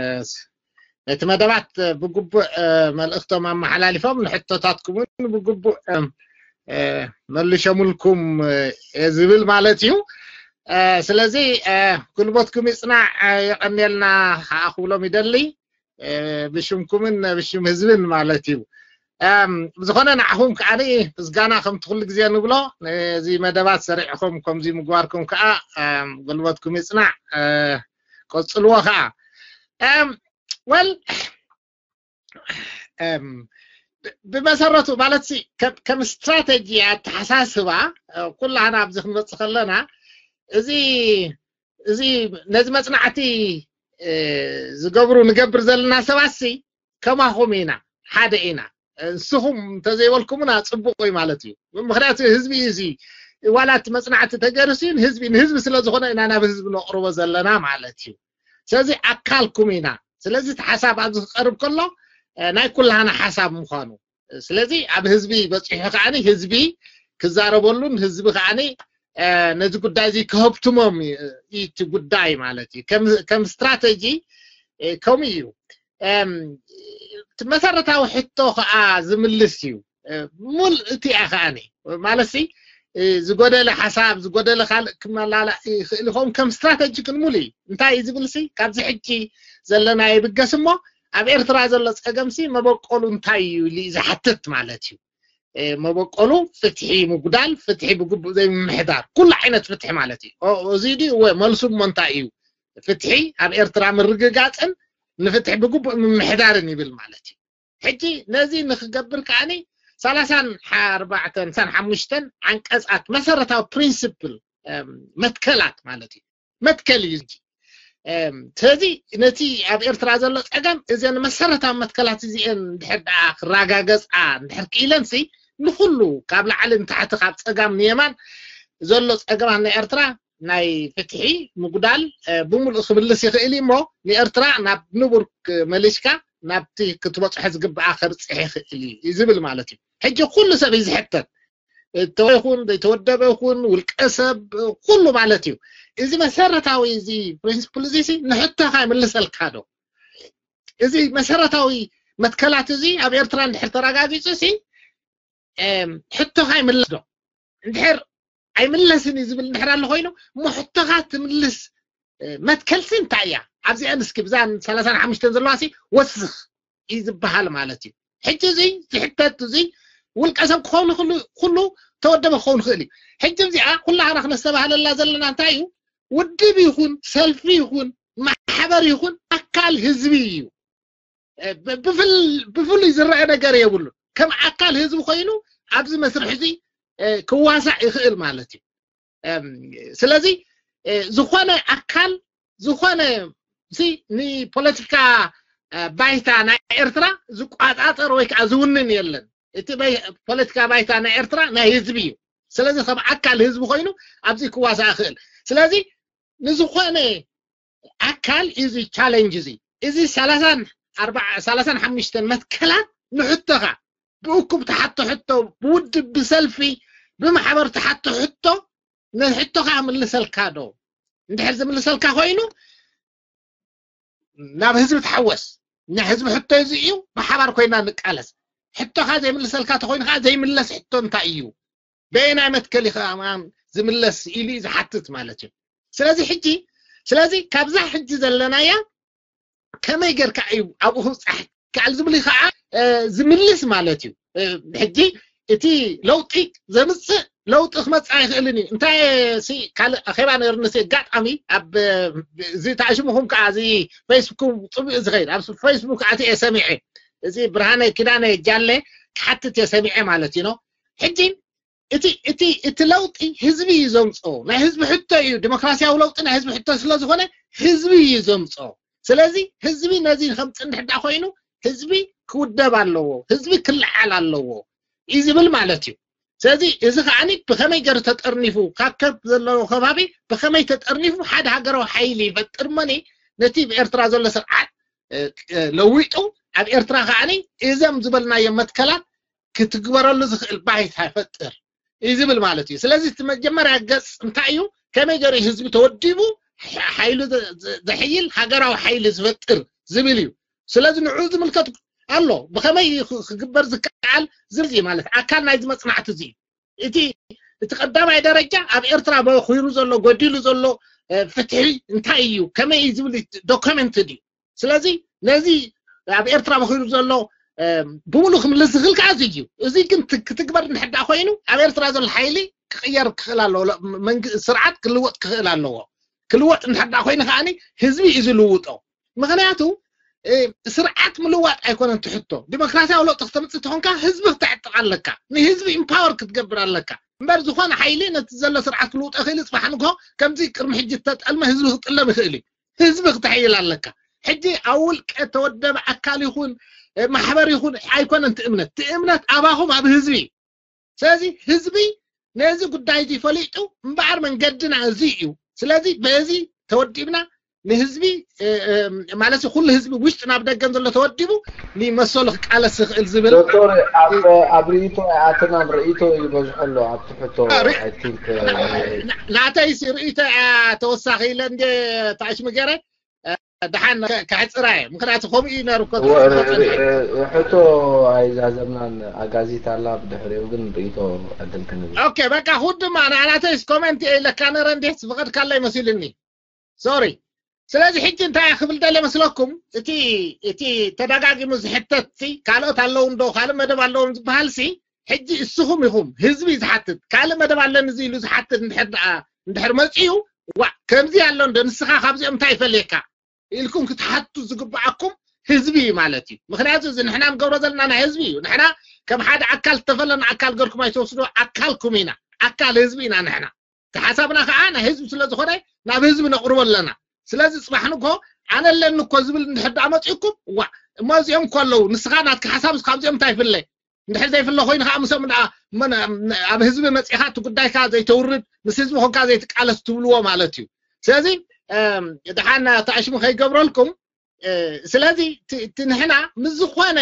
ነቲ መደባት ብግቡእ፣ እ፣ መልእኽቶም ኣመሓላሊፎም ንሕቶታትኩም እውን ብግቡእ፣ እ፣ እ፣ መልሸሙልኩም፣ እ፣ ዝብል ማለት እዩ። እ፣ ስለዚ፣ እ፣ ጉልበትኩም ይጽናዕ፣ እ፣ የቐንየልና ከኣ ክብሎም ይደሊ። እ፣ ብሽምኩምን ብሽም ህዝብን ማለት እዩ። እም፣ ብዝኾነ ንዓኹም ከኣ ምስጋና ከምቲ ኩሉ ግዜ ንብሎ፣ ነዚ መደባት ሰሪዕኹም ከምዚ ምግባርኩም ከኣ፣ እም፣ ጉልበትኩም ይጽናዕ፣ እ፣ ቀጽልዎ ከኣ። እም፣ ወል፣ እም፣ ብ-፣ ብመሰረቱ ማለት ሲ ከም፣ ከም ስትራተጂ ኣተሓሳስባ፣ እ፣ ኩላህና ኣብዚ ክንመጽእ ከለና፣ እዚ፣ እዚ ነዚ መጽናዕቲ፣ እ፣ ዝገብሩ፣ ንገብር ዘለና ሰባት ሲ ከማኹም ኢና፣ ሓደ ኢና። ንስኹም እንተዘይበልኩምና ጽቡቕ እዩ ማለት እዩ። ምኽንያቱ ህዝቢ እዩ እዚ፣ ዋላ እቲ መጽናዕቲ ተገይሩ ሲ ንህዝቢ፣ ንህዝቢ ስለ ዝኾነ ኢና ናብ ህዝቢ ነቕርቦ ዘለና ማለት እዩ። ስለዚ ኣካልኩም ኢና። ስለዚ እቲ ሓሳብ ኣብዚ ክቐርብ ከሎ፣ እ፣ ናይ ኩላህና ሓሳብ ምዃኑ። ስለዚ ኣብ ህዝቢ በጺሑ ከኣኒ ህዝቢ ክዛረበሉን ህዝቢ ከኣኒ፣ እ፣ ነዚ ጉዳይ እዚ ክህብትሞም እዩ፣ እዩ እቲ ጉዳይ ማለት እዩ። ከም፣ ከም ስትራተጂ፣ እ፣ ከምኡ እዩ። እም፣ እቲ መሰረታዊ ሕቶ ከኣ ዝምልስ እዩ። እ፣ ሙል እቲ እያ ከኣኒ ማለት ሲ፣ እ፣ ዝጎደለ ሓሳብ፣ ዝጎደለ ካልእ ክመላላእ ይኽእል ይኸውን። ከም ስትራተጂ ግን ሙሉ እዩ። እንታይ እዩ ዝብል ሲ፣ ካብዚ ሕጂ ዘለና ይብገስ እሞ፣ ኣብ ኤርትራ ዘሎ ጸገም ሲ መበቆሉ እንታይ እዩ ኢሉ እዩ ዝሓትት ማለት እዩ። እ፣ መበቆሉ ፍትሒ ምጉዳል፣ ፍትሒ ብግቡእ ዘይምምሕዳር፣ ኩሉ ዓይነት ፍትሒ ማለት እዩ። ኦ፣ እዚ ድዩ? እወ፣ መልሱ እሞ እንታይ እዩ? ፍትሒ ኣብ ኤርትራ ምርግጋጽን ንፍትሒ ብግቡእ ምምሕዳርን ይብል ማለት እዩ። ሕጂ ነዚ ንክገብር ከኣኒ ሰላሳን ኣርባዕተን፣ ሰላሳን ሓሙሽተን ዓንቀጻት መሰረታዊ ፕሪንሲፕል፣ እም፣ መትከላት ማለት እዩ። መትከል እዩ እንጂ። እም፣ ስለዚ ነቲ ኣብ ኤርትራ ዘሎ ጸገም እዘን መሰረታዊ መትከላት እዚአን እንድሕር ደኣ ክረጋገጻ እንድሕር ክኢለን ሲ ንኹሉ ካብ ላዕሊ ንታሕቲ ካብ ጸጋም ንየማን ዘሎ ጸገማት ናይ ኤርትራ ናይ ፍትሒ ምጉዳል፣ እ፣ ብምሉእ ክምልስ ይኽእል እዩ እሞ ንኤርትራ ናብ ንቡር ክ-፣ መሊስካ ናብቲ ክትበጽሖ ዝግብኣ ከብጽሕ ይኽእል እዩ ዝብል ማለት እዩ። ሕጂ ኩሉ ሰብ እዩ ዝሕተት። እተወ ይኹን ዘይተወደበ ይኹን ውልቀ ሰብ ኩሉ ማለት እዩ። እዚ መሰረታዊ እዚ ፕሪንሲፕል እዚ ሲ ንሕቶኻ ይምልሰልካ ዶ? እዚ መሰረታዊ መትከላት እዚ ኣብ ኤርትራ እንድሕር ተረጋጊጹ ሲ፣ እም፣ ሕቶኻ ይምለስ ዶ? እንድሕር ኣይምለስን እዩ ዝብል እንድሕር ኣሎ ኮይኑ፣ እሞ ሕቶኻ ትምልስ፣ እ፣ መትከልሲ እንታይ እያ? ኣብዚአን እስኪ ብዛን ሰላሳን ሓሙሽተን ዘለዋ ሲ ወስኽ እዩ ዝበሃል ማለት እዩ። ሕጂ እዚ ዝሕተት እዚ ውልቀ ሰብ ክኸውን ይኽእል፣ ኩሉ ተወደበ ክኸውን ይኽእል እዩ። ሕጂ እዚኣ ኩላህና ክነስተባህለላ ዘለና እንታይ እዩ? ውድብ ይኹን፣ ሰልፊ ይኹን፣ ማሕበር ይኹን ኣካል ህዝቢ እዩ። እ፣ ብ-፣ ብፍል-፣ ብፍሉይ ዝረአ ነገር የብሉን። ከም ኣካል ህዝቢ ኮይኑ ኣብዚ መስርሕ እዚ፣ እ፣ ክዋሳእ ይኽእል ማለት እዩ። እም፣ ስለዚ፣ ዝኾነ ኣካል ዝኾነ ንፖለቲካ ባይታ ናይ ኤርትራ ዝቋፃፀር ወይ ከዓ ዝውንን የለን። እቲ ፖለቲካ ባይታ ናይ ኤርትራ ናይ ህዝቢ እዩ። ስለዚ ከም ኣካል ህዝቢ ኮይኑ ኣብዚ ክዋሳእ ይኽእል። ስለዚ ንዝኾነ ኣካል እዚ ቻለንጅ እዚ እዚ ሰላሳን ሓሙሽተን መትከላት ንሕቶኻ ብእኩብ ተሓቶ ሕቶ፣ ብውድብ፣ ብሰልፊ፣ ብማሕበር ተሓቶ ሕቶ፣ ንሕቶኻ ምልሰልካ ዶ? እንድሕር ዝምልሰልካ ኮይኑ ናብ ህዝቢ ተሓወስ። ናይ ህዝቢ ሕቶ እዚ እዩ፣ ብሓባር ኮይና ንቃለስ። ሕቶኻ ዘይምልሰልካ ተኮይኑ ከዓ ዘይምለስ ሕቶ እንታይ እዩ? በየናይ መትከል እዩ ከዓ ዝምለስ ኢሉ እዩ ዝሓትት ማለት እዩ። ስለዚ ሕጂ ስለዚ ካብዛ ሕጂ ዘለናያ ከመይ ጌርካ እዩ ኣብኡ ክብፃሕ ከኣል ዝብል ከዓ ዝምልስ ማለት እዩ። ሕጂ እቲ ለውጢ ዘምፅእ ለውጢ ክመፅእ ኣይኽእልን እዩ። እንታይ ካልእ ኣኼባ ነርንስ ኣጋጣሚ ኣብ እዚ ተኣሽሙኹም ከዓ እዚ ፌስቡክ ፅቡቅ ዝኸይድ ኣብ ፌስቡክ ኣቲ እየ ሰሚዐ። እዚ ብርሃነ ኪዳነ ጃለ ክሓትት እየ ሰሚዐ ማለት እዩ። ሕጂ እቲ እቲ እቲ ለውጢ ህዝቢ እዩ ዘምፅኦ። ናይ ህዝቢ ሕቶ እዩ። ዲሞክራሲያዊ ለውጢ ናይ ህዝቢ ሕቶ ስለዝኾነ ህዝቢ እዩ ዘምፅኦ። ስለዚ ህዝቢ ነዚ ከምፅእ እንድሕር ኮይኑ ህዝቢ ክውደብ ኣለዎ፣ ህዝቢ ክለዓል ኣለዎ እዩ ዝብል ማለት እዩ። ስለዚ እዚ ከዓኒ ብኸመይ ገይሩ ተጠርኒፉ ካብ ከብ ዘለዎ ከባቢ ብኸመይ ተጠርኒፉ ሓደ ሃገራዊ ሓይሊ ይፈጥር መኒ ነቲ ብኤርትራ ዘሎ ስርዓት ለዊጡ ኣብ ኤርትራ ከዓኒ እዘም ዝበልናዮ መትከላት ክትግበረሉ ዝኽእል ባይታ ይፈጥር እዩ ዝብል ማለት እዩ። ስለዚ እቲ መጀመርያ ገፅ እንታይ እዩ? ከመይ ገይሩ ህዝቢ ተወዲቡ ሓይሉ ዘሕይል ሃገራዊ ሓይሊ ዝፈጥር ዝብል እዩ። ስለዚ ንዑ ዝምልከት ኣሎ። ብኸመይ ክግበር ዝከኣል ዝብል ማለት ኣካል ናይዚ መፅናዕቲ እዚ እዩ። እቲ እቲ ቀዳማይ ደረጃ ኣብ ኤርትራ በኺሩ ዘሎ ጎዲሉ ዘሎ ፍትሒ እንታይ እዩ ከመይ እዩ ዝብል ዶክመንት እዩ። ስለዚ ነዚ ኣብ ኤርትራ በኺሩ ዘሎ ብሙሉ ክምልስ ዝኽእል ከዓ እዚ እዩ። እዚ ግን ክትግበር እንድሕዳ ኮይኑ ኣብ ኤርትራ ዘሎ ሓይሊ ክቕየር ክኽእል ኣለዎ። ስርዓት ክልወጥ ክኽእል ኣለዎ። ክልወጥ እንድሕዳ ኮይኑ ከዓ ህዝቢ እዩ ዝልውጦ። ምክንያቱ ስርዓት ምልዋጥ ኣይኮነን ትሕቶ። ዲሞክራሲያዊ ለውጢ ክተምፅእ ተኾንካ ህዝቢ ክተዕጥቕ ኣለካ። ንህዝቢ ኢምፓወር ክትገብር ኣለካ። እምበር ዝኾነ ሓይሊ ነቲ ዘሎ ስርዓት ክልውጦ ይኽእል። ፅባሕ ንግሆ ከምዚ ቅድሚ ሕጂ እተጠልመ ህዝቢ ክጥለም ይኽእል እዩ። ህዝቢ ክተሕይል ኣለካ። ሕጂ ኣብ ውልቀ ተወደበ ኣካል ይኹን ማሕበር ይኹን ኣይኮነን ትእምነት። ትእምነት ኣባኹም ኣብ ህዝቢ እዩ። ስለዚ ህዝቢ ነዚ ጉዳይ እዚ ፈሊጡ እምበኣር መንገድና እዚ እዩ። ስለዚ በዚ ተወዲብና ንህዝቢ ማለት ኩሉ ህዝቢ ውሽጢ ናብ ደገን ዘሎ ተወዲቡ ንመሰሉ ክቃለስ ዝኽእል ዝብል ዶክተር ኣብ ርእይቶ ኣይኣተናን። ርእይቶ ይበዝሖ ኣሎ ኣብቲ ሕቶ። ናተይሲ ርእይቶ እያ ተወሳኺ ኢለ እንደ ታሽሚ ገይረ ደሓን ከሕፅራ እየ። ምክንያቱ ከምኡ እዩ ነሩ። ሕቶ ኣይዛዘምናን። ኣጋዚት ኣላ፣ ብድሕሪኡ ግን ርእይቶ ዕድል ክንብል። ኦኬ፣ በቃ ኩድማ ንኣናተይስ ኮመንት እየ ኢለካ ነረ እንዴት ዝፈቐድካለይ መሲልኒ። ሶሪ። ስለዚ ሕጂ እንታይ ክብል ደለ መስለኩም? እቲ እቲ ተደጋጊሙ ዝሕተት ካልኦት ኣለዉ እንዶ ካልእ መደብ ኣለዎም ዝበሃል ሲ ሕጂ እስኹም ኢኹም ህዝቢ ዝሓትት። ካልእ መደብ ኣለኒ እዚ ኢሉ ዝሓትት እንድሕር ደኣ እንድሕር መፅኡ ዋ ከምዚ ኣሎ እንዶ ንስኻ ካብዚኦም እንታይ ይፈልየካ ኢልኩም ክትሓቱ ዝግብኣኩም ህዝቢ እዩ ማለት እዩ። ምክንያቱ እዚ ንሕና ንገብሮ ዘለና ናይ ህዝቢ እዩ። ንሕና ከም ሓደ ኣካል ዝተፈለና ኣካል ገርኩም ኣይተወስዶ ኣካልኩም ኢና። ኣካል ህዝቢ ኢና ንሕና። እቲ ሓሳብና ከዓ ናይ ህዝቢ ስለዝኾነ ናብ ህዝቢ ነቕርቦ ኣለና። ስለዚ ፅባሕ ንግሆ ኣነ ኣለኒ እኮ ዝብል እንድሕር ደኣ መፂኡኩም ዋ እሞ እዚኦም እኮ ኣለዉ ንስኻ ናትካ ሓሳብ ካብዚኦም እንታይ ይፍለ እንድሕር ዘይፍለ ኮይኑ ከዓ ምሶም ደኣ ኣብ ህዝቢ መፂኻ እቲ ጉዳይካ ዘይተውርድ ምስ ህዝቢ ኮንካ ዘይትቃለስ ትብልዎ ማለት እዩ። ስለዚ ደሓን ተኣሽሙ ከይገብረልኩም። ስለዚ እቲ ንሕና ምስ ዝኾነ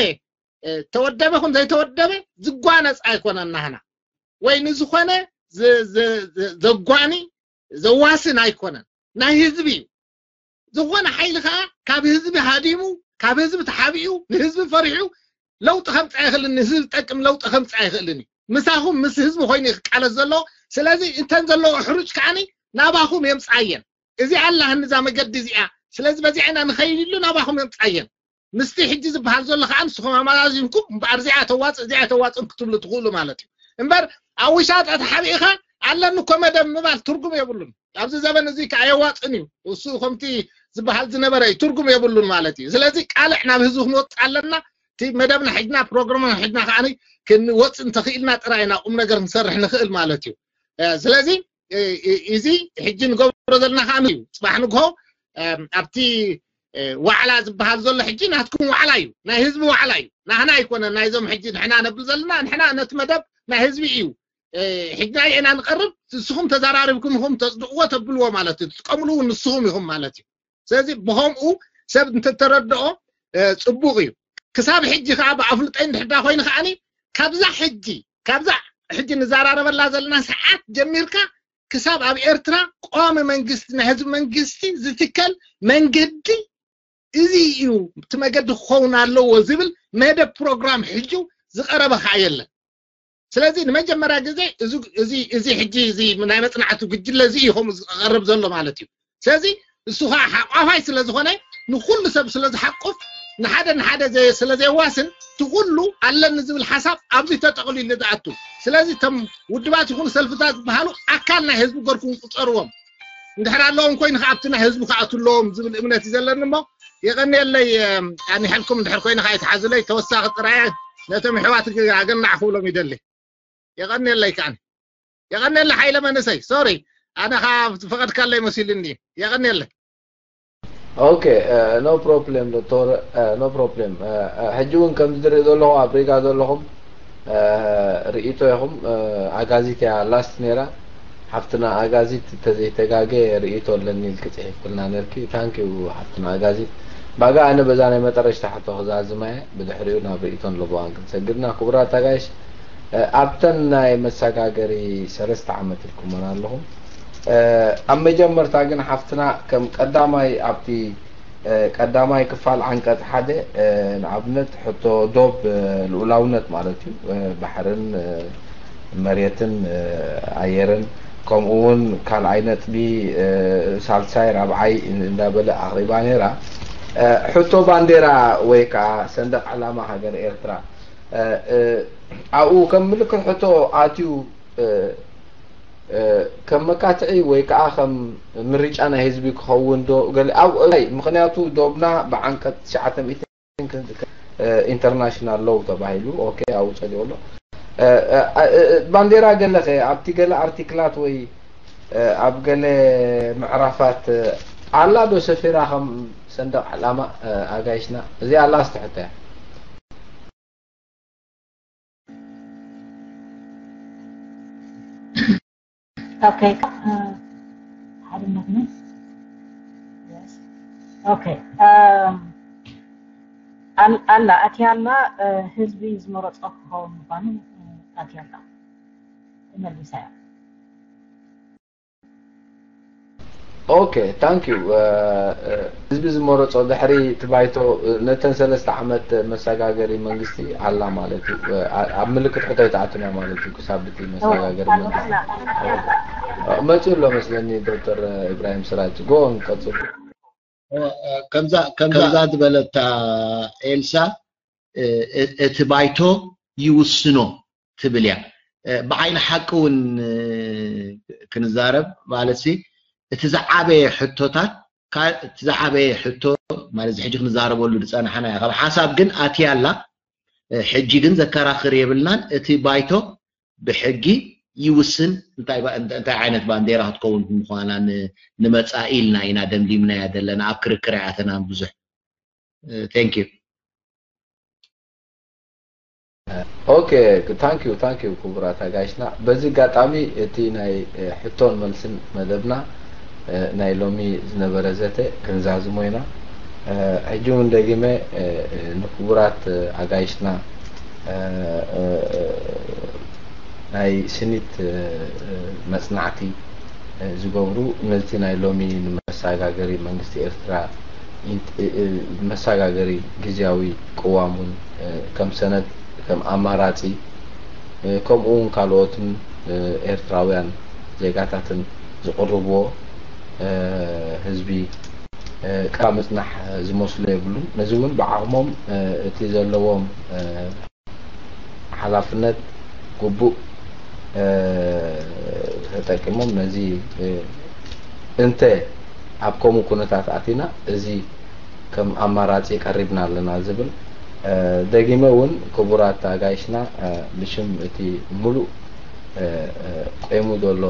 ተወደበ ኹን ዘይተወደበ ዝጓነፅ ኣይኮነን ናህና ወይ ንዝኾነ ዘጓኒ ዘዋስን ኣይኮነን። ናይ ህዝቢ እዩ። ዝኾነ ሓይሊ ከዓ ካብ ህዝቢ ሃዲሙ ካብ ህዝቢ ተሓቢኡ ንህዝቢ ፈሪሑ ለውጢ ከምፅእ ኣይኽእልን። ንህዝቢ ዝጠቅም ለውጢ ከምፅእ ኣይኽእልን እዩ። ምሳኹም ምስ ህዝቢ ኮይኑ ክቃለስ ዘሎ። ስለዚ እንተን ዘለዎ ሕሩጭ ከዓኒ ናባኹም የምፅኣየን። እዚ ኣላህን እዛ መገዲ እዚኣ ስለዚ በዚዓ ኢና ንኸይድ ኢሉ ናባኹም የምፅኣየን። ምስቲ ሕጂ ዝበሃል ዘሎ ከዓ ንስኹም ኣመዛዚንኩም እምበኣር እዚኣ ተዋፅእ እዚኣ ተዋፅእን ክትብሉ ትኽእሉ ማለት እዩ። እምበር ኣብ ውሻጠ ተሓቢእኻ ኣለኒ እኮ መደብ ምባል ትርጉም የብሉን። ኣብዚ ዘበን እዚ ከዓ የዋፅን እዩ። እሱ ከምቲ ዝበሃል ዝነበረ እዩ ትርጉም የብሉን ማለት እዩ። ስለዚ ቃልዕ ናብ ህዝቢ ክንወፅእ ኣለና። እቲ መደብና ሕጅና ፕሮግራምና ሕጅና ከዓ ክንወፅእ እንተኽኢልና ጥራይ ኢና ቁም ነገር ክንሰርሕ ንኽእል ማለት እዩ። ስለዚ እዚ ሕጂ ንገብሮ ዘለና ከኣ እዩ። ጽባሕ ንግሆ ኣብቲ ዋዕላ ዝበሃል ዘሎ ሕጂ ናትኩም ዋዕላ እዩ፣ ናይ ህዝቢ ዋዕላ እዩ። ናህና ኣይኮነን። ናይዞም ሕጂ ንሕና ነብል ዘለና፣ ንሕና ነቲ መደብ ናይ ህዝቢ እዩ። ሕጂ ናይ ኢና ንቐርብ፣ ንስኹም ተዘራሪብኩም ኢኹም ተጽድቕዎ ተብልዎ ማለት እዩ። ትጥቀምሉ እውን ንስኹም ኢኹም ማለት እዩ። ስለዚ ብኸምኡ ሰብ እንተተረድኦ ጽቡቕ እዩ። ክሳብ ሕጂ ከዓ ብኣፍልጠይ እንድሕዳ ኮይኑ ከዓኒ ካብዛ ሕጂ ካብዛ ሕጂ ንዘራረበላ ዘለና ሰዓት ጀሚርካ ክሳብ ኣብ ኤርትራ ቀዋሚ መንግስቲ ናይ ህዝቢ መንግስቲ ዝትከል መንገዲ እዚ እዩ፣ እቲ መገዲ ክኸውን ኣለዎ ዝብል መደብ ፕሮግራም ሕጂ ዝቐረበ ከዓ የለን። ስለዚ ንመጀመርያ ግዜ እዚ ሕጂ እዚ ናይ መፅናዕቲ ጉጅለ እዚ እዩ ከምኡ ዝቐርብ ዘሎ ማለት እዩ። ስለዚ እሱ ከዓ ሓቋፋይ ስለ ዝኾነ ንኩሉ ሰብ ስለ ዝሓቁፍ ንሓደ ንሓደ ስለ ዘየዋስን እቲ ኩሉ ኣለኒ ዝብል ሓሳብ ኣብዚ ተጠቕሊሉ ዝኣቱ። ስለዚ እቶም ውድባት ይኹኑ ሰልፍታት ዝበሃሉ ኣካል ናይ ህዝቢ ገርኩም ቁፀርዎም። እንድሕር ኣለዎም ኮይኑ ከዓ ኣብቲ ናይ ህዝቢ ክኣቱ ኣለዎም ዝብል እምነት እዩ ዘለኒ እሞ የቐንየለይ። ኣኒሐልኩም እንድሕር ኮይኑ ከዓ ይትሓዙለይ። ተወሳኺ ጥራየ ነቶም ኣሕዋት ኣገናዕ ክብሎም ይደሊ። የቐንየለይ ከዓኒ። የቐንየለይ ሓይለ መንእሰይ። ሶሪ ኣነ ከዓ ዝፈቐድካለይ መሲሉኒ። የቐንየለይ። ኦኬ፣ no problem ዶክተር፣ no problem። ሕጂ እውን ከምዚ ዝርኢ ዘለኹ ኣብ ሪጋ ዘለኹም ርእይቶ ኢኹም። ኣጋዚት እያ ላስት ነይራ። ሓፍትና ኣጋዚት እንተዘይተጋገ ርእይቶ ኣለኒ ኢልኪ ጽሒፍክልና ነርኪ። ታንኪዩ ሓፍትና ኣጋዚት። ባጋ ኣነ በዛ ናይ መጠረሽታ ሕቶ ክዛዝማ እየ። ብድሕሪኡ ናብ ርእይቶን ለበዋን ክንሰግድና። ክቡራት ኣጋይሽ፣ ኣብተን ናይ መሰጋገሪ ሰለስተ ዓመት ኢልኩመን ኣለኹም። ኣብ መጀመርታ ግን ሓፍትና ከም ቀዳማይ ኣብቲ ቀዳማይ ክፋል ዓንቀጽ ሓደ ንኣብነት ሕቶ ዶብ ልኡላውነት ማለት እዩ፣ ባሕርን መሬትን ኣየርን ከምኡ እውን ካልኣይ ነጥቢ ሳልሳይ ራብዓይ እንዳበለ ኣቕሪባ ነይራ። ሕቶ ባንዴራ ወይ ከዓ ሰንደቕ ዕላማ ሃገር ኤርትራ ኣብኡ ከም ምልክት ሕቶ ኣትዩ ከም መካትዒ ወይ ከዓ ከም ምርጫ ናይ ህዝቢ ክኸውን ዶ ገለ ኣብኡ ምክንያቱ ዶብና ብዓንቀጽ ትሽዓተ ሚእቲ ኢንተርናሽናል ሎው ተባሂሉ ኦኬ ኣብኡ ጸዲቑ ኣሎ። ባንዴራ ገለኸ ኣብቲ ገለ ኣርቲክላት ወይ ኣብ ገለ ምዕራፋት ኣላ ዶ ሰፊራ ከም ሰንደቕ ዕላማ ኣጋይሽና እዚኣ ኣላ ስትሕቶ እያ። Okay. ሓደ ሞመንት። Okay. ኣላ ኣትያ ኣላ። ህዝቢ ዝመረፆ ክኸውን ምኳኑ ኣትያ ኣላ ተመሊሳ እያ። ኦኬ ታንክ ዩ። ህዝቢ ዝመረፆ ድሕሪ እቲ ባይቶ ነተን ሰለስተ ዓመት መሰጋገሪ መንግስቲ ኣላ ማለት እዩ። ኣብ ምልክት ሕቶ ኣይተኣቱና ማለት እዩ። ክሳብ እቲ መሰጋገሪ መንግስቲ መፅኡ ኣሎ መስለኒ። ዶክተር ኢብራሂም ስራጅ ጎ ንቀፅሉ። ከምዛ ዝበለታ ኤልሳ እቲ ባይቶ ይውስኖ ትብል እያ። ብዓይኒ ሓቂ እውን ክንዛረብ ማለት እቲ ዝዓበየ ሕቶታት እቲ ዝዓበየ ሕቶ ማለት ሕጂ ክንዛረበሉ ዝፀናሕና እያ። ካብ ሓሳብ ግን ኣትያ ኣላ። ሕጂ ግን ዘከራኽር የብልናን። እቲ ባይቶ ብሕጊ ይውስን እንታይ ዓይነት ባንዴራ ክትከውን ምዃና ንመፃኢ ኢልና ኢና ደምዲምናያ ዘለና። ኣብ ክርክር ኣይኣተናን ብዙሕ። Thank you። ኦኬ ታንክ ዩ ታንክ ዩ ክቡራት ኣጋይሽና። በዚ ኣጋጣሚ እቲ ናይ ሕቶን መልስን መደብና ናይ ሎሚ ዝነበረ ዘተ ክንዛዝሞ ኢና። ሕጂ እውን ደጊመ ንክቡራት ኣጋይሽና ናይ ስኒት መፅናዕቲ ዝገብሩ ነቲ ናይ ሎሚ ንመሰጋገሪ መንግስቲ ኤርትራ መሰጋገሪ ግዝያዊ ቅዋም እውን ከም ሰነድ ከም ኣማራፂ ከምኡ እውን ካልኦትን ኤርትራውያን ዜጋታትን ዝቕርብዎ ህዝቢ ቃ ምፅናሕ ዝመስሎ የብሉን። ነዚ እውን ብዓቕሞም እቲ ዘለዎም ሓላፍነት ግቡእ ተጠቂሞም ነዚ እንተ ኣብ ከምኡ ኩነታት ኣቲና እዚ ከም ኣማራፂ ቀሪብና ኣለና ዝብል ደጊመ እውን ክቡራት ኣጋይሽና ብሽም እቲ ሙሉእ ቆይሙ ዘሎ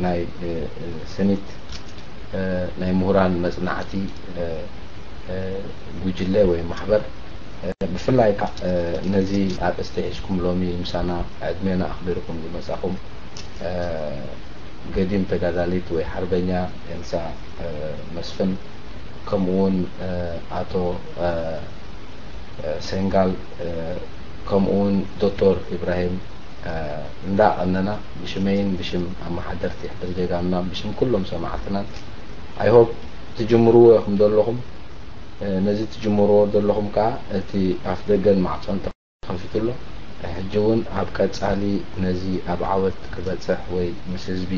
ናይ ስኒት ናይ ምሁራን መጽናዕቲ ጉጅለ ወይ ማሕበር፣ ብፍላይ ከዓ ነዚ ኣርእስቲ ሒዝኩም ሎሚ ምሳና ዕድሜና ኣኽቢርኩም ዝመጻኹም ገዲም ተጋዳሊት ወይ ሓርበኛ ኤልሳ መስፍን፣ ከምኡ እውን ኣቶ ሰንጋል፣ ከምኡ እውን ዶክተር ኢብራሂም እንዳቐነና፣ ብሽመይን ብሽም ኣመሓደርቲ ሕድር ጀጋኑና፣ ብሽም ኩሎም ሰማዕትናን፣ I hope ትጅምርዎ ኢኹም ዘለኹም። ነዚ ትጅምርዎ ዘለኹም ከዓ እቲ ኣፍ ደገን ማዕጾን ተኸፊቱ ኣሎ። ሕጂ እውን ኣብ ቀጻሊ ነዚ ኣብ ዓወት ክበጽሕ ወይ ምስ ህዝቢ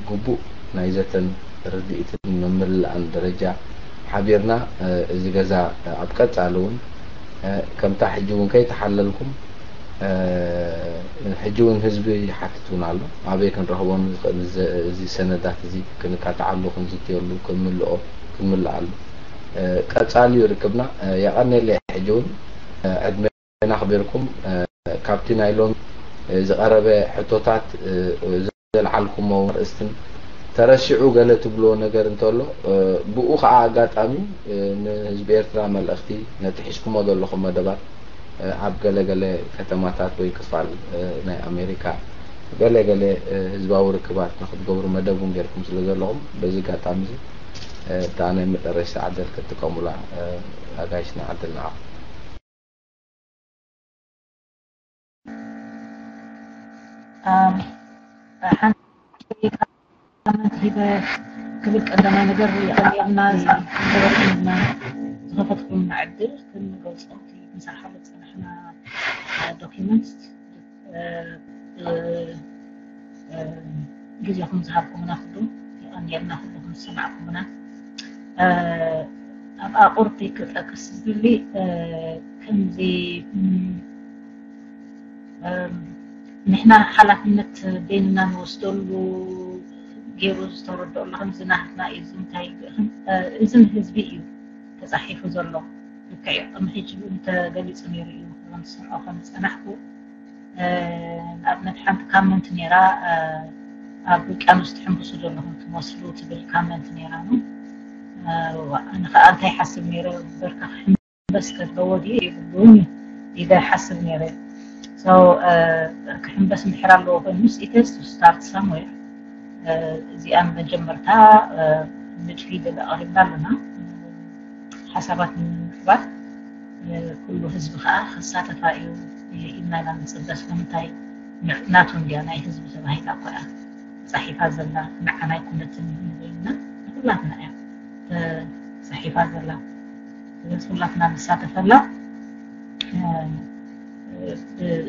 ግቡእ ናይ ዘተን ርድኢትን ምምልላእን ደረጃ ሓቢርና፣ እዚ ገዛ ኣብ ቀጻሊ እውን ከምታ ሕጂ እውን ከይተሓለልኩም፣ ሕጂ እውን ህዝቢ ይሓትት እውን ኣሎ። ኣበይ ክንረኽቦ ንኽእል እዚ ሰነዳት እዚ ክንካትዓሉ ክንዝትየሉ ክንምልኦ ክንምልኣሉ ቀጻሊ እዩ ርክብና። የቐኔለይ ሕጂ እውን ዕድመና ኣኽቢርኩም ካብቲ ናይ ሎሚ ዝቐረበ ሕቶታት ዘልዓልኩሞ ኣርእስትን ተረሲዑ ገለ ትብልዎ ነገር እንተሎ ብኡ ከዓ ኣጋጣሚ ንህዝቢ ኤርትራ መልእኽቲ ነቲ ሒዝኩሞ ዘለኹም መደባት ኣብ ገለ ገለ ከተማታት ወይ ክፋል ናይ ኣሜሪካ ገለ ገለ ህዝባዊ ርክባት ንክትገብሩ መደብ እውን ጌርኩም ስለ ዘለኹም በዚ ኣጋጣሚ እዚ እታ ናይ መጨረሽታ ዕድል ክትጥቀሙላ ኣጋይሽ ንዓድል ንዓኹም። ሓንቲ ኮመንት ሂበ ክብል ቀዳማይ ነገር የቐንየልና ዝገበርኩምና ዝኸፈትኩምና ዕድል ክንገልጾ እቲ ክንሰርሓሉ ዝጸናሕና ዶኪመንት ግዜኹም ዝሃብኩምና ኩሉ የቐንየልና፣ ኩልኹም ዝሰማዕኩምና። ኣብ ኣቑርቲ ክጠቅስ ዝደሊ ከምዚ ንሕና ሓላፍነት በይንና ንወስደሉ ገይሩ ዝተረድኦ ኣሎ። ከምዚ ናህትና እዩ፣ እዚ እንታይ እዚ ንህዝቢ እዩ ተፃሒፉ ዘሎ። ልክዕ እዩ። ቅድሚ ሕጂ እውን ተገሊፁ ነይሩ እዩ። ከም ዝሰምዖ ከም ዝፀናሕኩ ንኣብነት ሓንቲ ካመንት ነይራ፣ ኣብ ውቅያኖስ ትሕንብሱ ዘለኹም ትመስሉ ትብል ካመንት ነይራ። ኣነ ከዓ እንታይ ሓስብ ነይረ፣ በርካ ክሕንበስ ከለዎ ድዩ የብሉን ኢለ ሓስብ ነይረ። ክሕንበስ እንድሕር ኣለዎ ኮይኑ it has to start somewhere። እዚኣ መጀመርታ ንድፊ ኢለ ኣቕሪብና ኣለና። ሓሳባት ንምምዕባል ኩሉ ህዝቢ ከዓ ክሳተፋ እዩ ኢልና ኢና ንፅበ። ስለምንታይ ናቱ እንድያ ናይ ህዝቢ ተባሂላ እኮ እያ ተፃሒፋ ዘላ፣ ንዓና ኣይኮነትን ንበይንና ንኩላትና እያ ተፃሒፋ ዘላ። ስለዚ ኩላትና ንሳተፈላ።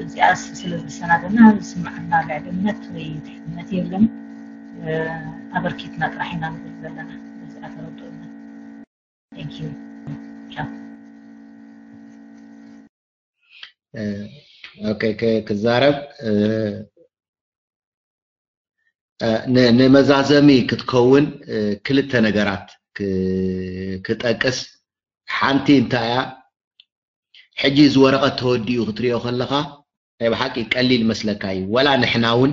እዚኣ ስለ ዝሰናደና ዝስምዓና ልዕልነት ወይ ትሕትነት የለን። ኣበርኪትና ጥራሕ ኢና ንብል ዘለና። በዚኣ ተረድኡና። Thank you. ኦኬ፣ ክዛረብ ንመዛዘሚ ክትከውን ክልተ ነገራት ክጠቅስ። ሓንቲ እንታይ እያ? ሕጂ እዚ ወረቐት ተወዲኡ ክትሪኦ ከለኻ ናይ ብሓቂ ቀሊል መስለካ እዩ። ወላ ንሕና እውን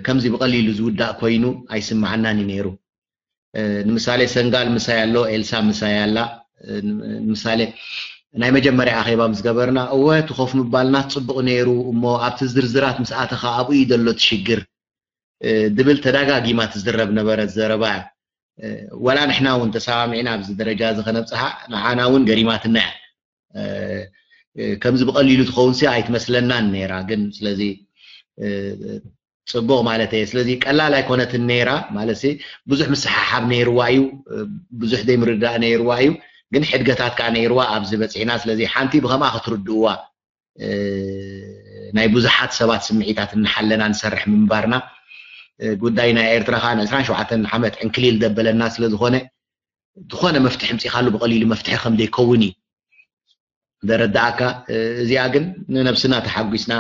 ከምዚ ብቐሊሉ ዝውዳእ ኮይኑ ኣይስምዓናን እዩ ነይሩ። ንምሳሌ ሰንጋል ምሳይ ኣሎ፣ ኤልሳ ምሳይ ኣላ። ንምሳሌ ናይ መጀመርያ ኣኼባ ምስ ገበርና፣ እወ እቲ ኮፍ ምባልና ጽቡቕ ነይሩ፣ እሞ ኣብቲ ዝርዝራት ምስ ኣተኻ ኣብኡ እዩ ዘሎ እቲ ሽግር ድብል ተዳጋጊማ ትዝረብ ነበረት ዘረባ እያ። ወላ ንሕና እውን ተሰማሚዕና ኣብዚ ደረጃ እዚ ከነብጽሓ ንዓና እውን ገሪማትና እያ። ከምዚ ብቐሊሉ ትኸውን ሲ ኣይትመስለናን ነይራ። ግን ስለዚ ጽቡቕ ማለት እየ። ስለዚ ቀላል ኣይኮነትን ነይራ ማለት ብዙሕ ምስሓሓብ ነይርዋ እዩ፣ ብዙሕ ዘይምርዳእ ነይርዋ እዩ። ግን ሕድገታት ከዓ ነይርዋ ኣብዚ በፂሕና። ስለዚ ሓንቲ ብከምኣ ክትርድእዋ ናይ ብዙሓት ሰባት ስምዒታት እናሓለና ንሰርሕ ምንባርና ጉዳይ ናይ ኤርትራ ከዓ ን ዕስራን ሸውዓተን ዓመት ዕንክሊል ዘበለና ስለዝኾነ ዝኾነ መፍትሒ ምፂኻሉ ብቐሊሉ መፍትሒ ከም ዘይከውን እዩ ደረዳእካ። እዚኣ ግን ንነብስና ተሓጒስና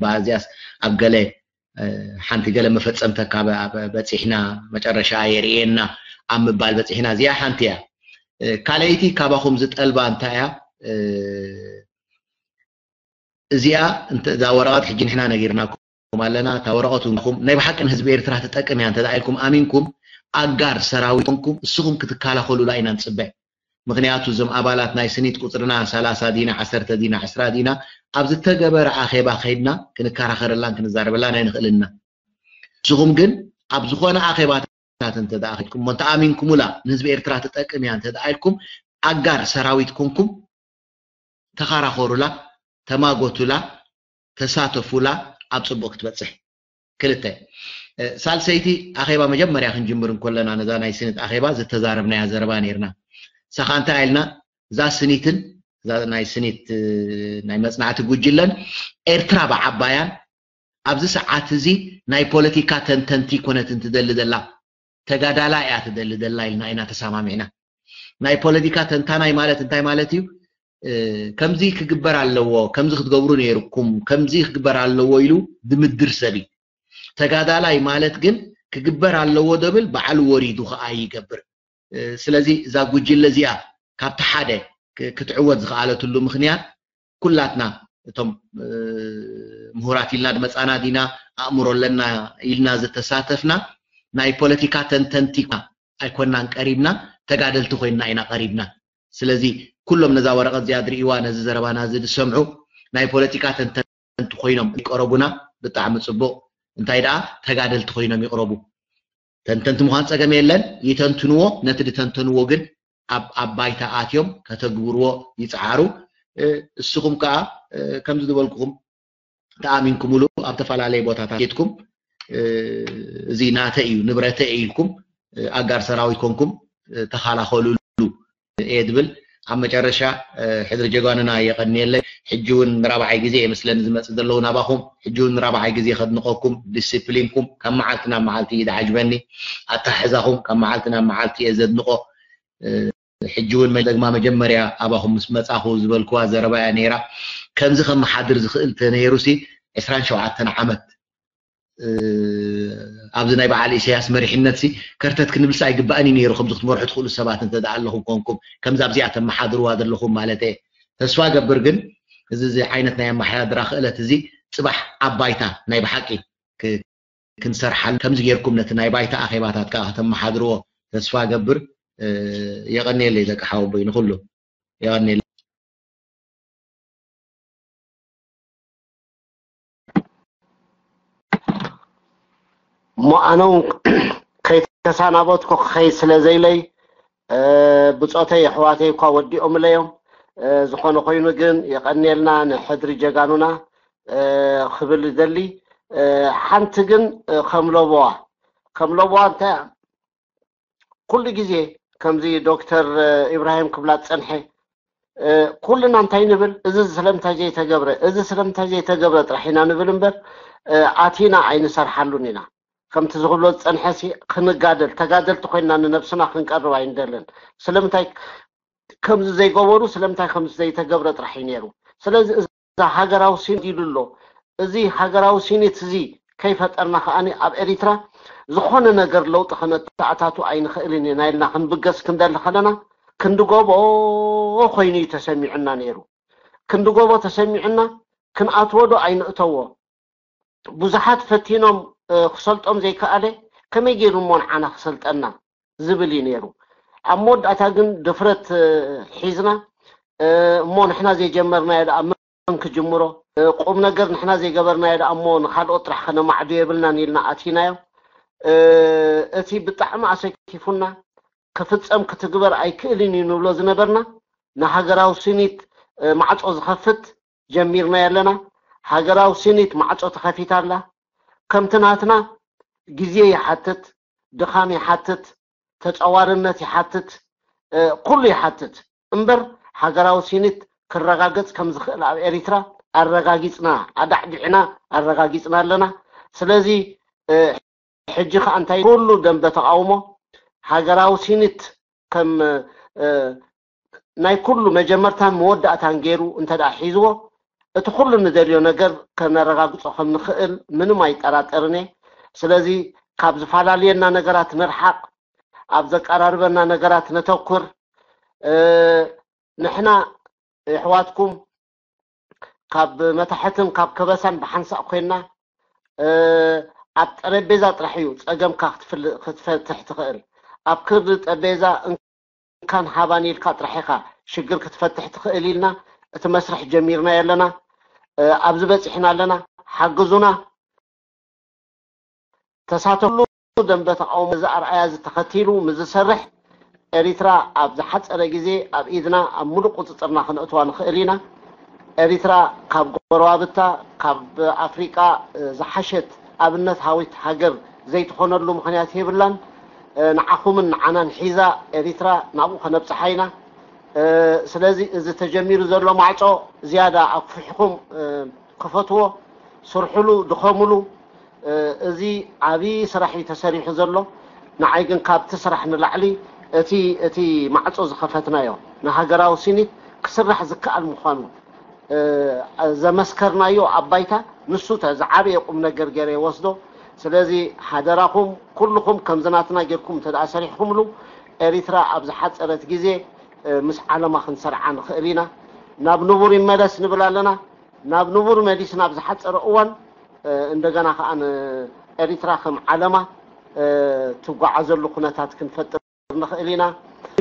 ባዚያስ ኣብ ገለ ሓንቲ ገለ መፈፀምተካ በፂሕና መጨረሻ የርእየና ኣብ ምባል በፂሕና። እዚኣ ሓንቲ እያ። ካልኣይቲ ካባኹም ዝጠልባ እንታይ እያ? እዚኣ እዛ ወረቐት ሕጂ ንሕና ነጊርናኩም ኣለና። እታ ወረቐት እውን ናይ ብሓቂ ንህዝቢ ኤርትራ ትጠቅም እያ እንተ ኢልኩም ኣሚንኩም ኣጋር ሰራዊት ኮንኩም እስኹም ክትከላኸሉላ ኢና ንፅበ። ምክንያቱ እዞም ኣባላት ናይ ስኒት ቁፅርና ሰላሳ ዲና፣ ዓሰርተ ዲና፣ ዕስራ ዲና፣ ኣብ ዝተገበረ ኣኼባ ከይድና ክንከራኸረላን ክንዛረበላን ኣይንኽእልን ኢና። ንስኹም ግን ኣብ ዝኾነ ኣኼባታት እንተ ደኣ ከይድኩም እሞ እንተኣሚንኩሙላ ንህዝቢ ኤርትራ ትጠቅም እያ እንተ ደኣ ኢልኩም ኣጋር ሰራዊት ኮንኩም ተኻራኸሩላ፣ ተማጎቱላ፣ ተሳተፉላ ኣብ ጽቡቕ ክትበጽሕ። ክልተ፣ እ፣ ሳልሰይቲ ኣኼባ መጀመርያ ክንጅምር እንከለና ነዛ ናይ ስኒት ኣኼባ ዝተዛረብናያ ዘረባ ነይርና። ሳኻ እንታይ ኢልና እዛ ስኒትን እዛ ናይ ስኒት፣ እ፣ ናይ መጽናዕቲ ጉጅለን ኤርትራ ብዓባያን ኣብዚ ሰዓት እዚ ናይ ፖለቲካ ተንተንቲ ኮነትን ትደሊ ዘላ ተጋዳላይ እያ ትደሊ ዘላ ኢልና ኢና ተሰማሚዕና። ናይ ፖለቲካ ተንታናይ ማለት እንታይ ማለት እዩ? እ፣ ከምዚ ክግበር ኣለዎ፣ ከምዚ ክትገብሩ ነይርኩም፣ ከምዚ ክግበር ኣለዎ ኢሉ ድምድር ሰብ እዩ። ተጋዳላይ ማለት ግን ክግበር ኣለዎ ደብል ባዕሉ ወሪዱ ከኣ ይገብር። እ፣ ስለዚ እዛ ጉጅለ እዚኣ ካብቲ ሓደ ክ-፣ ክትዕወት ዝኸኣለትሉ ምኽንያት ኩላትና እቶም፣ እ፣ ምሁራት ኢልና ዝመጻና ዲና፣ ኣእምሮ ኣለና ኢልና ዝተሳተፍና ናይ ፖለቲካ ተንተንቲ ኣይኮናን ቀሪብና፣ ተጋደልቲ ኮይና ኢና ቀሪብና። ስለዚ ኩሎም ነዛ ወረቐት እዚኣ ዝርእይዋ፣ ነዚ ዘረባና እዚ ዝሰምዑ ናይ ፖለቲካ ተንተንቲ ኮይኖም ይቀረቡና፣ ብጣዕሚ ጽቡቕ። እንታይ ደኣ ተጋደልቲ ኮይኖም ይቅረቡ። ተንተንቲ ምዃን ጸገም የለን፣ ይተንትንዎ። ነቲ ዝተንተንዎ ግን ኣብ፣ ኣብ ባይታ ኣትዮም ከተግብርዎ ይጽዓሩ። እ፣ እስኹም ከኣ፣ እ፣ ከምዚ ዝበልኩኹም ተኣሚንኩምሉ ኣብ ተፈላለየ ቦታታት ኬድኩም፣ እ፣ እዚ ናተይ እዩ፣ ንብረተይ እዩ ኢልኩም፣ እ፣ ኣጋር ሰራዊት ኮንኩም፣ እ፣ ተኸላኸሉሉ እየ ድብል። ኣብ መጨረሻ፣ እ፣ ሕድሪ ጀጋኑና የቐንየለይ። ሕጂ እውን ንራብዓይ ግዜ እየ መስለኒ ዝመጽእ ዘለኹ ናባኹም። ሕጂ እውን ንራብዓይ ግዜ ከድንቐኩም፣ ዲሲፕሊንኩም ካብ መዓልቲ ናብ መዓልቲ እዩ ዝዓጅበኒ። ኣተሓሕዛኹም ካብ መዓልቲ ናብ መዓልቲ እየ ዘድንቖ። እ፣ ሕጂ እውን መ-፣ ደግማ መጀመርያ ኣባኹም ምስ መጻኹ ዝበልኩዋ ዘረባ እያ ነይራ። ከምዚ ከመሓድር ዝኽእል ተነይሩሲ ዕስራን ሸውዓተን ዓመት፣ እ፣ ኣብዚ ናይ በዓል ኢሳያስ መሪሕነትሲ ከርተት ክንብልሲ ኣይግባእን እዩ ነይሩ። ከምዚ ክትመርሑ ትኽእሉ ሰባት እንተ ደኣ ኣለኹም ኮንኩም፣ ከምዚ ኣብዚኣ ተመሓድርዋ ዘለኹም ማለት እየ። ተስፋ ገብር ግን እዚ፣ እዚ ዓይነት ናይ ኣመሓዳድራ ክእለት እዚ ጽባሕ ኣብ ባይታ ናይ ብሓቂ ክ-፣ ክንሰርሓሉ፣ ከምዚ ጌርኩም ነቲ ናይ ባይታ ኣኼባታት ከኣ ከተመሓድርዎ ተስፋ ገብር። እ፣ የቐንየለይ ደቂ ሓወቦይ ንኹሉ። የቐንየለይ። እሞ ኣነ እውን ከይተሰናበትኩ ክኸይድ ስለ ዘይለይ፣ እ፣ ብጾተይ ኣሕዋተይ እኳ ወዲኦምለይ እዮም። እ፣ ዝኾነ ኮይኑ ግን የቐንየልና ንሕድሪ ጀጋኑና፣ እ፣ ክብል ይደሊ። እ፣ ሓንቲ ግን፣ እ፣ ከም ለበዋ፣ ከም ለበዋ እንታይ ኩሉ ግዜ ከምዚ ዶክተር፣ እ፣ ኢብራሂም ክብላ ዝጸንሐ፣ እ፣ ኩልና እንታይ ንብል? እዚ ስለምንታይ ዘይተገብረ? እዚ ስለምንታይ ዘይተገብረ ጥራሕ ኢና ንብል እምበር፣ እ፣ ኣቲና ኣይንሰርሓሉን ኢና። ከምቲ ዝኽብሎ ዝጸንሐሲ ክንጋደል፣ ተጋደልቲ ኮይንና ንነብስና ክንቀርብ ኣይንደልን። ስለምንታይ ከምዚ ዘይገበሩ፣ ስለምንታይ ከምዚ ዘይተገብረ ጥራሕ እዩ ነይሩ። ስለዚ እዛ ሃገራዊ ሲኒት ኢሉ ኣሎ። እዚ ሃገራዊ ሲኒት እዚ ከይፈጠርና ከኣ ኣብ ኤሪትራ ዝኾነ ነገር ለውጢ ከነተኣታቱ ኣይንኽእልን ኢና ኢልና ክንብገስ ክንደሊ ከለና፣ ክንዲ ጎቦ ኮይኑ እዩ ተሰሚዑና ነይሩ። ክንዲ ጎቦ ተሰሚዑና፣ ክንኣትዎ ዶ ኣይንእተዎ? ብዙሓት ፈቲኖም፣ እ፣ ክሰልጦም ዘይከኣለ፣ ከመይ ገይሩ እሞ ንዓና ክሰልጠና ዝብል እዩ ነይሩ። ኣብ መወዳእታ ግን ድፍረት፣ እ፣ ሒዝና፣ እ፣ እሞ ንሕና ዘይጀመርናዮ ደኣ መን ክጅምሮ? እ፣ ቁም ነገር ንሕና ዘይገበርናዮ ደኣ እሞ ንኻልኦት ጥራሕ ከነማዕዱ የብልናን ኢልና ኣቲናዮ። እ፣ እቲ ብጣዕሚ ኣሰኪፉና፣ ክፍጸም ክትግበር ኣይክእልን እዩ ንብሎ ዝነበርና፣ ንሃገራዊ ስኒት፣ እ፣ ማዕጾ ዝኸፍት ጀሚርናዮ ኣለና። ሃገራዊ ስኒት ማዕጾ ተኸፊታ ኣላ። ከምቲ ናትና ግዜ ይሓትት፣ ድኻም ይሓትት፣ ተጸዋርነት ይሓትት፣ እ፣ ኩሉ ይሓትት። እምበር ሃገራዊ ስኒት ክረጋገጽ ከም ዝኽእል ኣብ ኤሪትራ ኣረጋጊጽና፣ ኣዳዕዲዕና ኣረጋጊጽና ኣለና። ስለዚ፣ እ፣ ሕጂ ከኣ እንታይ ኩሉ ደንበ ተቓውሞ ሃገራዊ ስኒት ከም፣ እ፣ ናይ ኩሉ መጀመርታን መወዳእታን ገይሩ እንተ ደኣ ሒዝዎ፣ እቲ ኩሉ ንደልዮ ነገር ከነረጋግጾ ከም ንኽእል ምንም ኣይጠራጠርን እየ። ስለዚ ካብ ዝፈላለየና ነገራት ንርሓቕ፣ ኣብ ዘቀራርበና ነገራት ነተኩር። እ፣ ንሕና የሕዋትኩም ካብ መታሕትን ካብ ከበሳን ብሓንሳእ ኮይንና፣ እ፣ ኣብ ጠረጴዛ ጥራሕ እዩ ጸገምካ ክትፍል- ክትፈትሕ ትኽእል። ኣብ ክርዲ ጠረጴዛ እንካን ሃባን ኢልካ ጥራሕ ኢኻ ሽግር ክትፈትሕ ትኽእል ኢልና እቲ መስርሕ ጀሚርናዮ ኣለና። እ፣ ኣብዚ በጺሕና ኣለና። ሓግዙና። ተሳተፍሉ ደንበ ተቃውሞ እዚ ኣርኣያ እዚ ተኸቲሉ ምስ ዝሰርሕ ኤሪትራ ኣብ ዝሓጸረ ግዜ ኣብ ኢድና ኣብ ሙሉእ ቁጽጽርና ክነእትዋ ንኽእል ኢና። ኤሪትራ ካብ ጎረባብታ ካብ ኣፍሪቃ ዝሓሸት ኣብነት ሃዊት ሃገር ዘይትኾነሉ ምኽንያት የብላን። ንዓኹምን ንዓናን ሒዛ ኤሪትራ ናብኡ ከነብጽሓ ኢና። ስለዚ እዚ ተጀሚሩ ዘሎ ማዕጾ ዝያዳ ኣኩፊሕኩም ክፈትዎ፣ ስርሕሉ፣ ድኸምሉ። እዚ ዓብዪ ስራሕ እዩ ተሰሪሑ ዘሎ። ንዓይ ግን ካብቲ ስራሕ ንላዕሊ እቲ እቲ ማዕጾ ዝኸፈትናዮ ንሃገራዊ ሲኒት ክስራሕ ዝከኣል ምዃኑ ዘመስከርናዮ ኣብ ባይታ ንሱ ተ ዝዓበየ ቁም ነገር ገይረ ይወስዶ። ስለዚ ሓደራኹም ኩልኹም ከምዚ ናትና ጌርኩም እንተ ደኣ ሰሪሕኩምሉ ኤሪትራ ኣብ ዝሓጸረት ግዜ ምስ ዓለማ ክንሰርዓ ንኽእል ኢና። ናብ ንቡር ይመለስ ንብል ኣለና። ናብ ንቡር መሊስና ኣብ ዝሓጸረ እዋን እንደገና ከኣ ንኤሪትራ ከም ዓለማ ትጓዓዘሉ ኩነታት ክንፈጥር ንኽእል ኢና።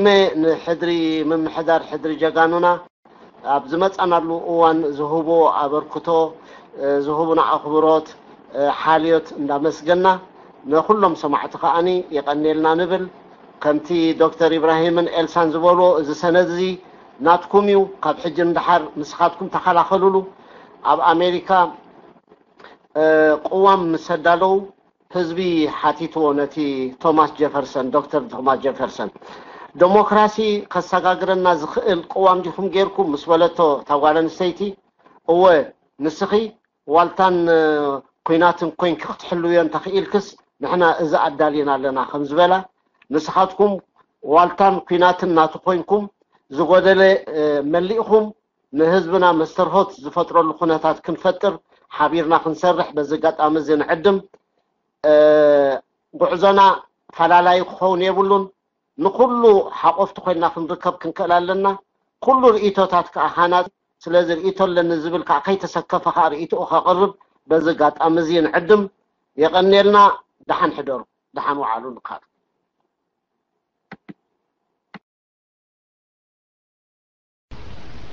ሜ ንሕድሪ ምምሕዳር ሕድሪ ጀጋኑና ኣብ ዝመጻናሉ እዋን ዝህብዎ ኣበርክቶ፣ ዝህቡና ኣኽብሮት፣ ሓልዮት እንዳመስገና ንኹሎም ሰማዕቲ ከኣኒ የቐንየልና ንብል። ከምቲ ዶክተር ኢብራሂምን ኤልሳን ዝበልዎ እዚ ሰነድ እዚ ናትኩም እዩ። ካብ ሕጂ ንደሓር ንስኻትኩም ተኸላኸሉሉ። ኣብ ኣሜሪካ ቅዋም ምስ ኣዳለዉ ህዝቢ ሓቲትዎ ነቲ ቶማስ ጀፈርሰን፣ ዶክተር ቶማስ ጀፈርሰን፣ ደሞክራሲ ከሰጋግረና ዝኽእል ቅዋም ዲኹም ጌርኩም ምስ በለቶ እታ ጓል ኣንስተይቲ፣ እወ ንስኺ ዋልታን ኲናትን ኮይንኪ ክትሕልውዮ እንተኽኢልክስ ንሕና እዚ ኣዳሊና ኣለና ከም ዝበላ፣ ንስኻትኩም ዋልታን ኲናትን ናቱ ኮይንኩም ዝጎደለ መሊእኹም ንህዝብና መስተርሆት ዝፈጥረሉ ኩነታት ክንፈጥር ሓቢርና ክንሰርሕ በዚ ኣጋጣሚ እዚ ንዕድም። ጉዕዞና ፈላላዩ ክኸውን የብሉን። ንኹሉ ሓቆፍቲ ኮይንና ክንርከብ ክንክእል ኣለና። ኩሉ ርእይቶታት ከኣ ሃናጺ። ስለዚ ርእይቶ ኣለኒ ዝብል ከኣ ከይተሰከፈ ከኣ ርእይቶኡ ከቕርብ በዚ ኣጋጣሚ እዚ ንዕድም። የቐንየልና። ደሓን ሕደሩ፣ ደሓን ወዓሉ ንካል።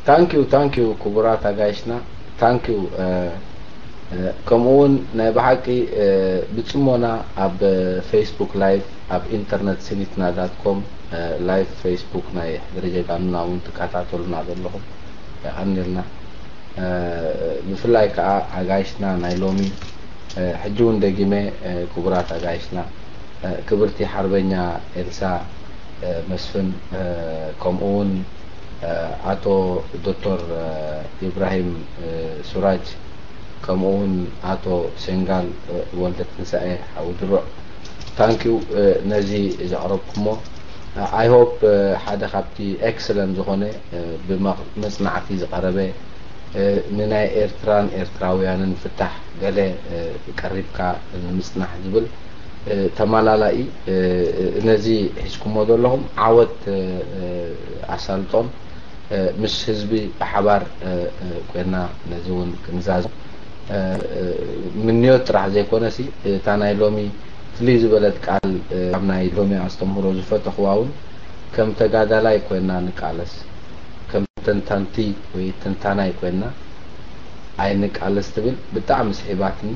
ታንኪዩ ታንኪዩ ክቡራት ኣጋይሽና፣ ታንኪዩ። ከምኡ እውን ናይ ብሓቂ ብፅሞና ኣብ ፌስቡክ ላይቭ ኣብ ኢንተርነት ሲኒትና ዳት ኮም ላይቭ ፌስቡክ ናይ ሕድሪ ጀጋኑና እውን ትከታተሉና ዘለኹም የቐንልና። ብፍላይ ከዓ ኣጋይሽና ናይ ሎሚ ሕጂ እውን ደጊመ ክቡራት ኣጋይሽና ክብርቲ ሓርበኛ ኤልሳ መስፍን ከምኡ እውን ኣቶ ዶክተር ኢብራሂም ሱራጅ ከምኡ እውን ኣቶ ሴንጋል ወልደ ትንሳኤ ሓዊ ድሩዕ ታንኪዩ ነዚ ዘቕረብኩሞ። I hope ሓደ ካብቲ ኤክሰለንት ዝኾነ ብመጽናዕቲ ዝቐረበ ንናይ ኤርትራን ኤርትራውያንን ፍታሕ ገለ ቀሪብካ ንምጽናሕ ዝብል ተመላላኢ ነዚ ሒዝኩሞ ዘለኹም ዓወት ኣሳልጦን ምስ ህዝቢ ብሓባር ኮይና ነዚ እውን ክንዛዝ ምንዮት ጥራሕ ዘይኮነሲ እታ ናይ ሎሚ ፍልይ ዝበለት ቃል ካብ ናይ ሎሚ ኣስተምህሮ ዝፈተኽዋ እውን ከም ተጋዳላይ ኮይና ንቃለስ ከም ተንታንቲ ወይ ተንታናይ ኮይና ኣይንቃለስ ትብል ብጣዕሚ ስሒባትኒ።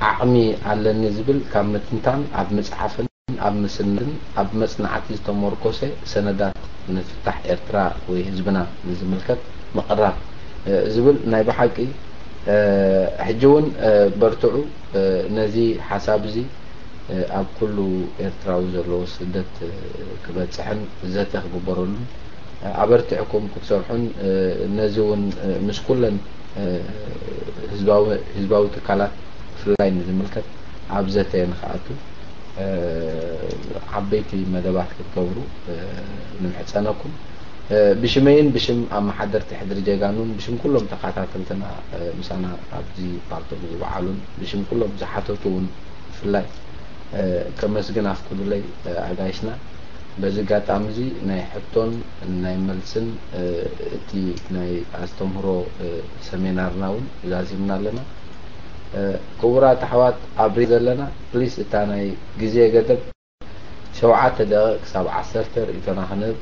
ዓቕሚ ኣለኒ ዝብል ካብ ምትንታን ኣብ ምፅሓፍን ኣብ ምስንድን ኣብ መፅናዕቲ ዝተመርኮሰ ሰነዳት ንፍታሕ ኤርትራ ወይ ህዝብና ንዝምልከት ምቕራብ ዝብል ናይ ብሓቂ ሕጂ እውን በርትዑ ነዚ ሓሳብ እዚ ኣብ ኩሉ ኤርትራዊ ዘለዎ ስደት ክበፅሕን ዘተ ክግበረሉን ኣበርቲዕኩም ክትሰርሑን ነዚ እውን ምስ ኩለን ህዝባዊ ትካላት ብፍላይ ንዝምልከት ኣብ ዘተ ንክኣቱ ዓበይቲ መደባት ክትገብሩ ንምሕፀነኩም። ብሽመይን ብሽም ኣመሓደርቲ ሕድሪ ጀጋኑን ብሽም ኩሎም ተኸታተልትና ምሳና ኣብዚ ፓርቶክ ዝወዓሉን ብሽም ኩሎም ዝሓተቱ እውን ብፍላይ ከመስግን ኣፍቅዱለይ ኣጋይሽና። በዚ ኣጋጣሚ እዚ ናይ ሕቶን ናይ መልስን እቲ ናይ ኣስተምህሮ ሰሜናርና እውን ዛዚምና ኣለና። ክቡራት ኣሕዋት ኣብ ሪም ዘለና ፕሊስ እታ ናይ ግዜ ገደብ ሸውዓተ ደቂቕ ክሳብ ዓሰርተ ርእይቶና ክንህብ።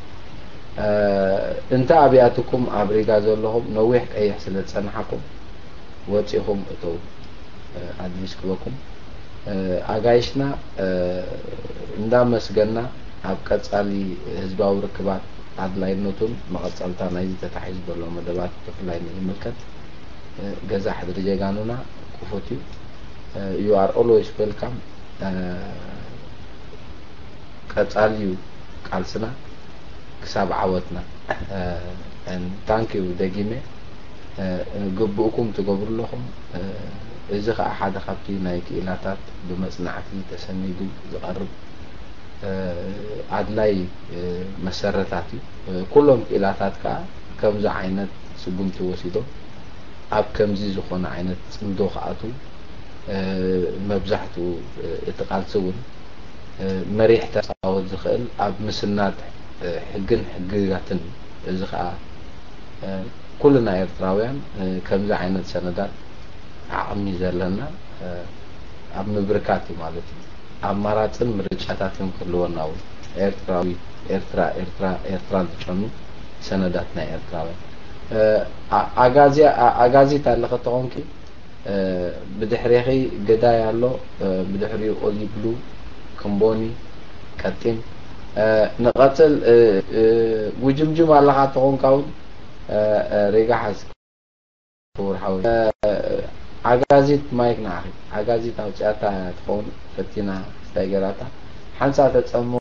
እንተ ኣብያትኩም ኣብ ሪጋ ዘለኹም ነዊሕ ቀይሕ ስለ ዝጸንሓኩም ወጺኹም እተው። ኣድቪስ ክበኩም ኣጋይሽና እንዳመስገና ኣብ ቀጻሊ ህዝባዊ ርክባት ኣድላይነቱን መቐጸልታ ናይዚ ተታሒዙ ዘሎ መደባት ብፍላይ ንዝምልከት ገዛ ሕድሪ ጀጋኑና ክፉት እዩ። You are always welcome። ቀጻሊ እዩ ቃልስና ክሳብ ዓወትና። Thank you ደጊመ። ግቡእኩም ትገብሩ ኣለኹም። እዚ ኸኣ ሓደ ካብቲ ናይ ክኢላታት ብመጽናዕቲ ተሰኒዱ ዝቐርብ ኣድላይ መሰረታት እዩ። ኩሎም ክኢላታት ከኣ ከምዚ ዓይነት ስጉምቲ ወሲዶም ኣብ ከምዚ ዝኾነ ዓይነት ጽምዶ ክኣትዉ መብዛሕትኡ እቲ ቃልሲ እውን መሪሕ ተጻወት ዝኽእል ኣብ ምስናድ ሕግን ሕግጋትን እዩ። እዚ ከኣ ኩልና ኤርትራውያን ከምዚ ዓይነት ሰነዳት ዓቕሚ ዘለና ኣብ ምብርካት እዩ ማለት እዩ። ኣማራጽን ምርጫታትን ክህልወና እውን ኤርትራዊ ኤርትራ ኤርትራ ኤርትራ ዝጨኑ ሰነዳት ናይ ኤርትራውያን ኣጋዚት ኣለኸ ተኾንኪ ብድሕሬኺ ገዳይ ኣሎ። ብድሕሪኡ ኦሊ ብሉ ክንቦኒ ቀጢን ንቐጽል። ጉጅምጅም ኣለኻ ተኾንካ እውን ሬጋ ሓዝ። ክቡር ሓወይ ዓጋዚት ማይክ ንዓኺ ዓጋዚት ኣውፅኣታ ትኸውን ፈቲና ስታይ ገራታ ሓንሳ ተፀምሞ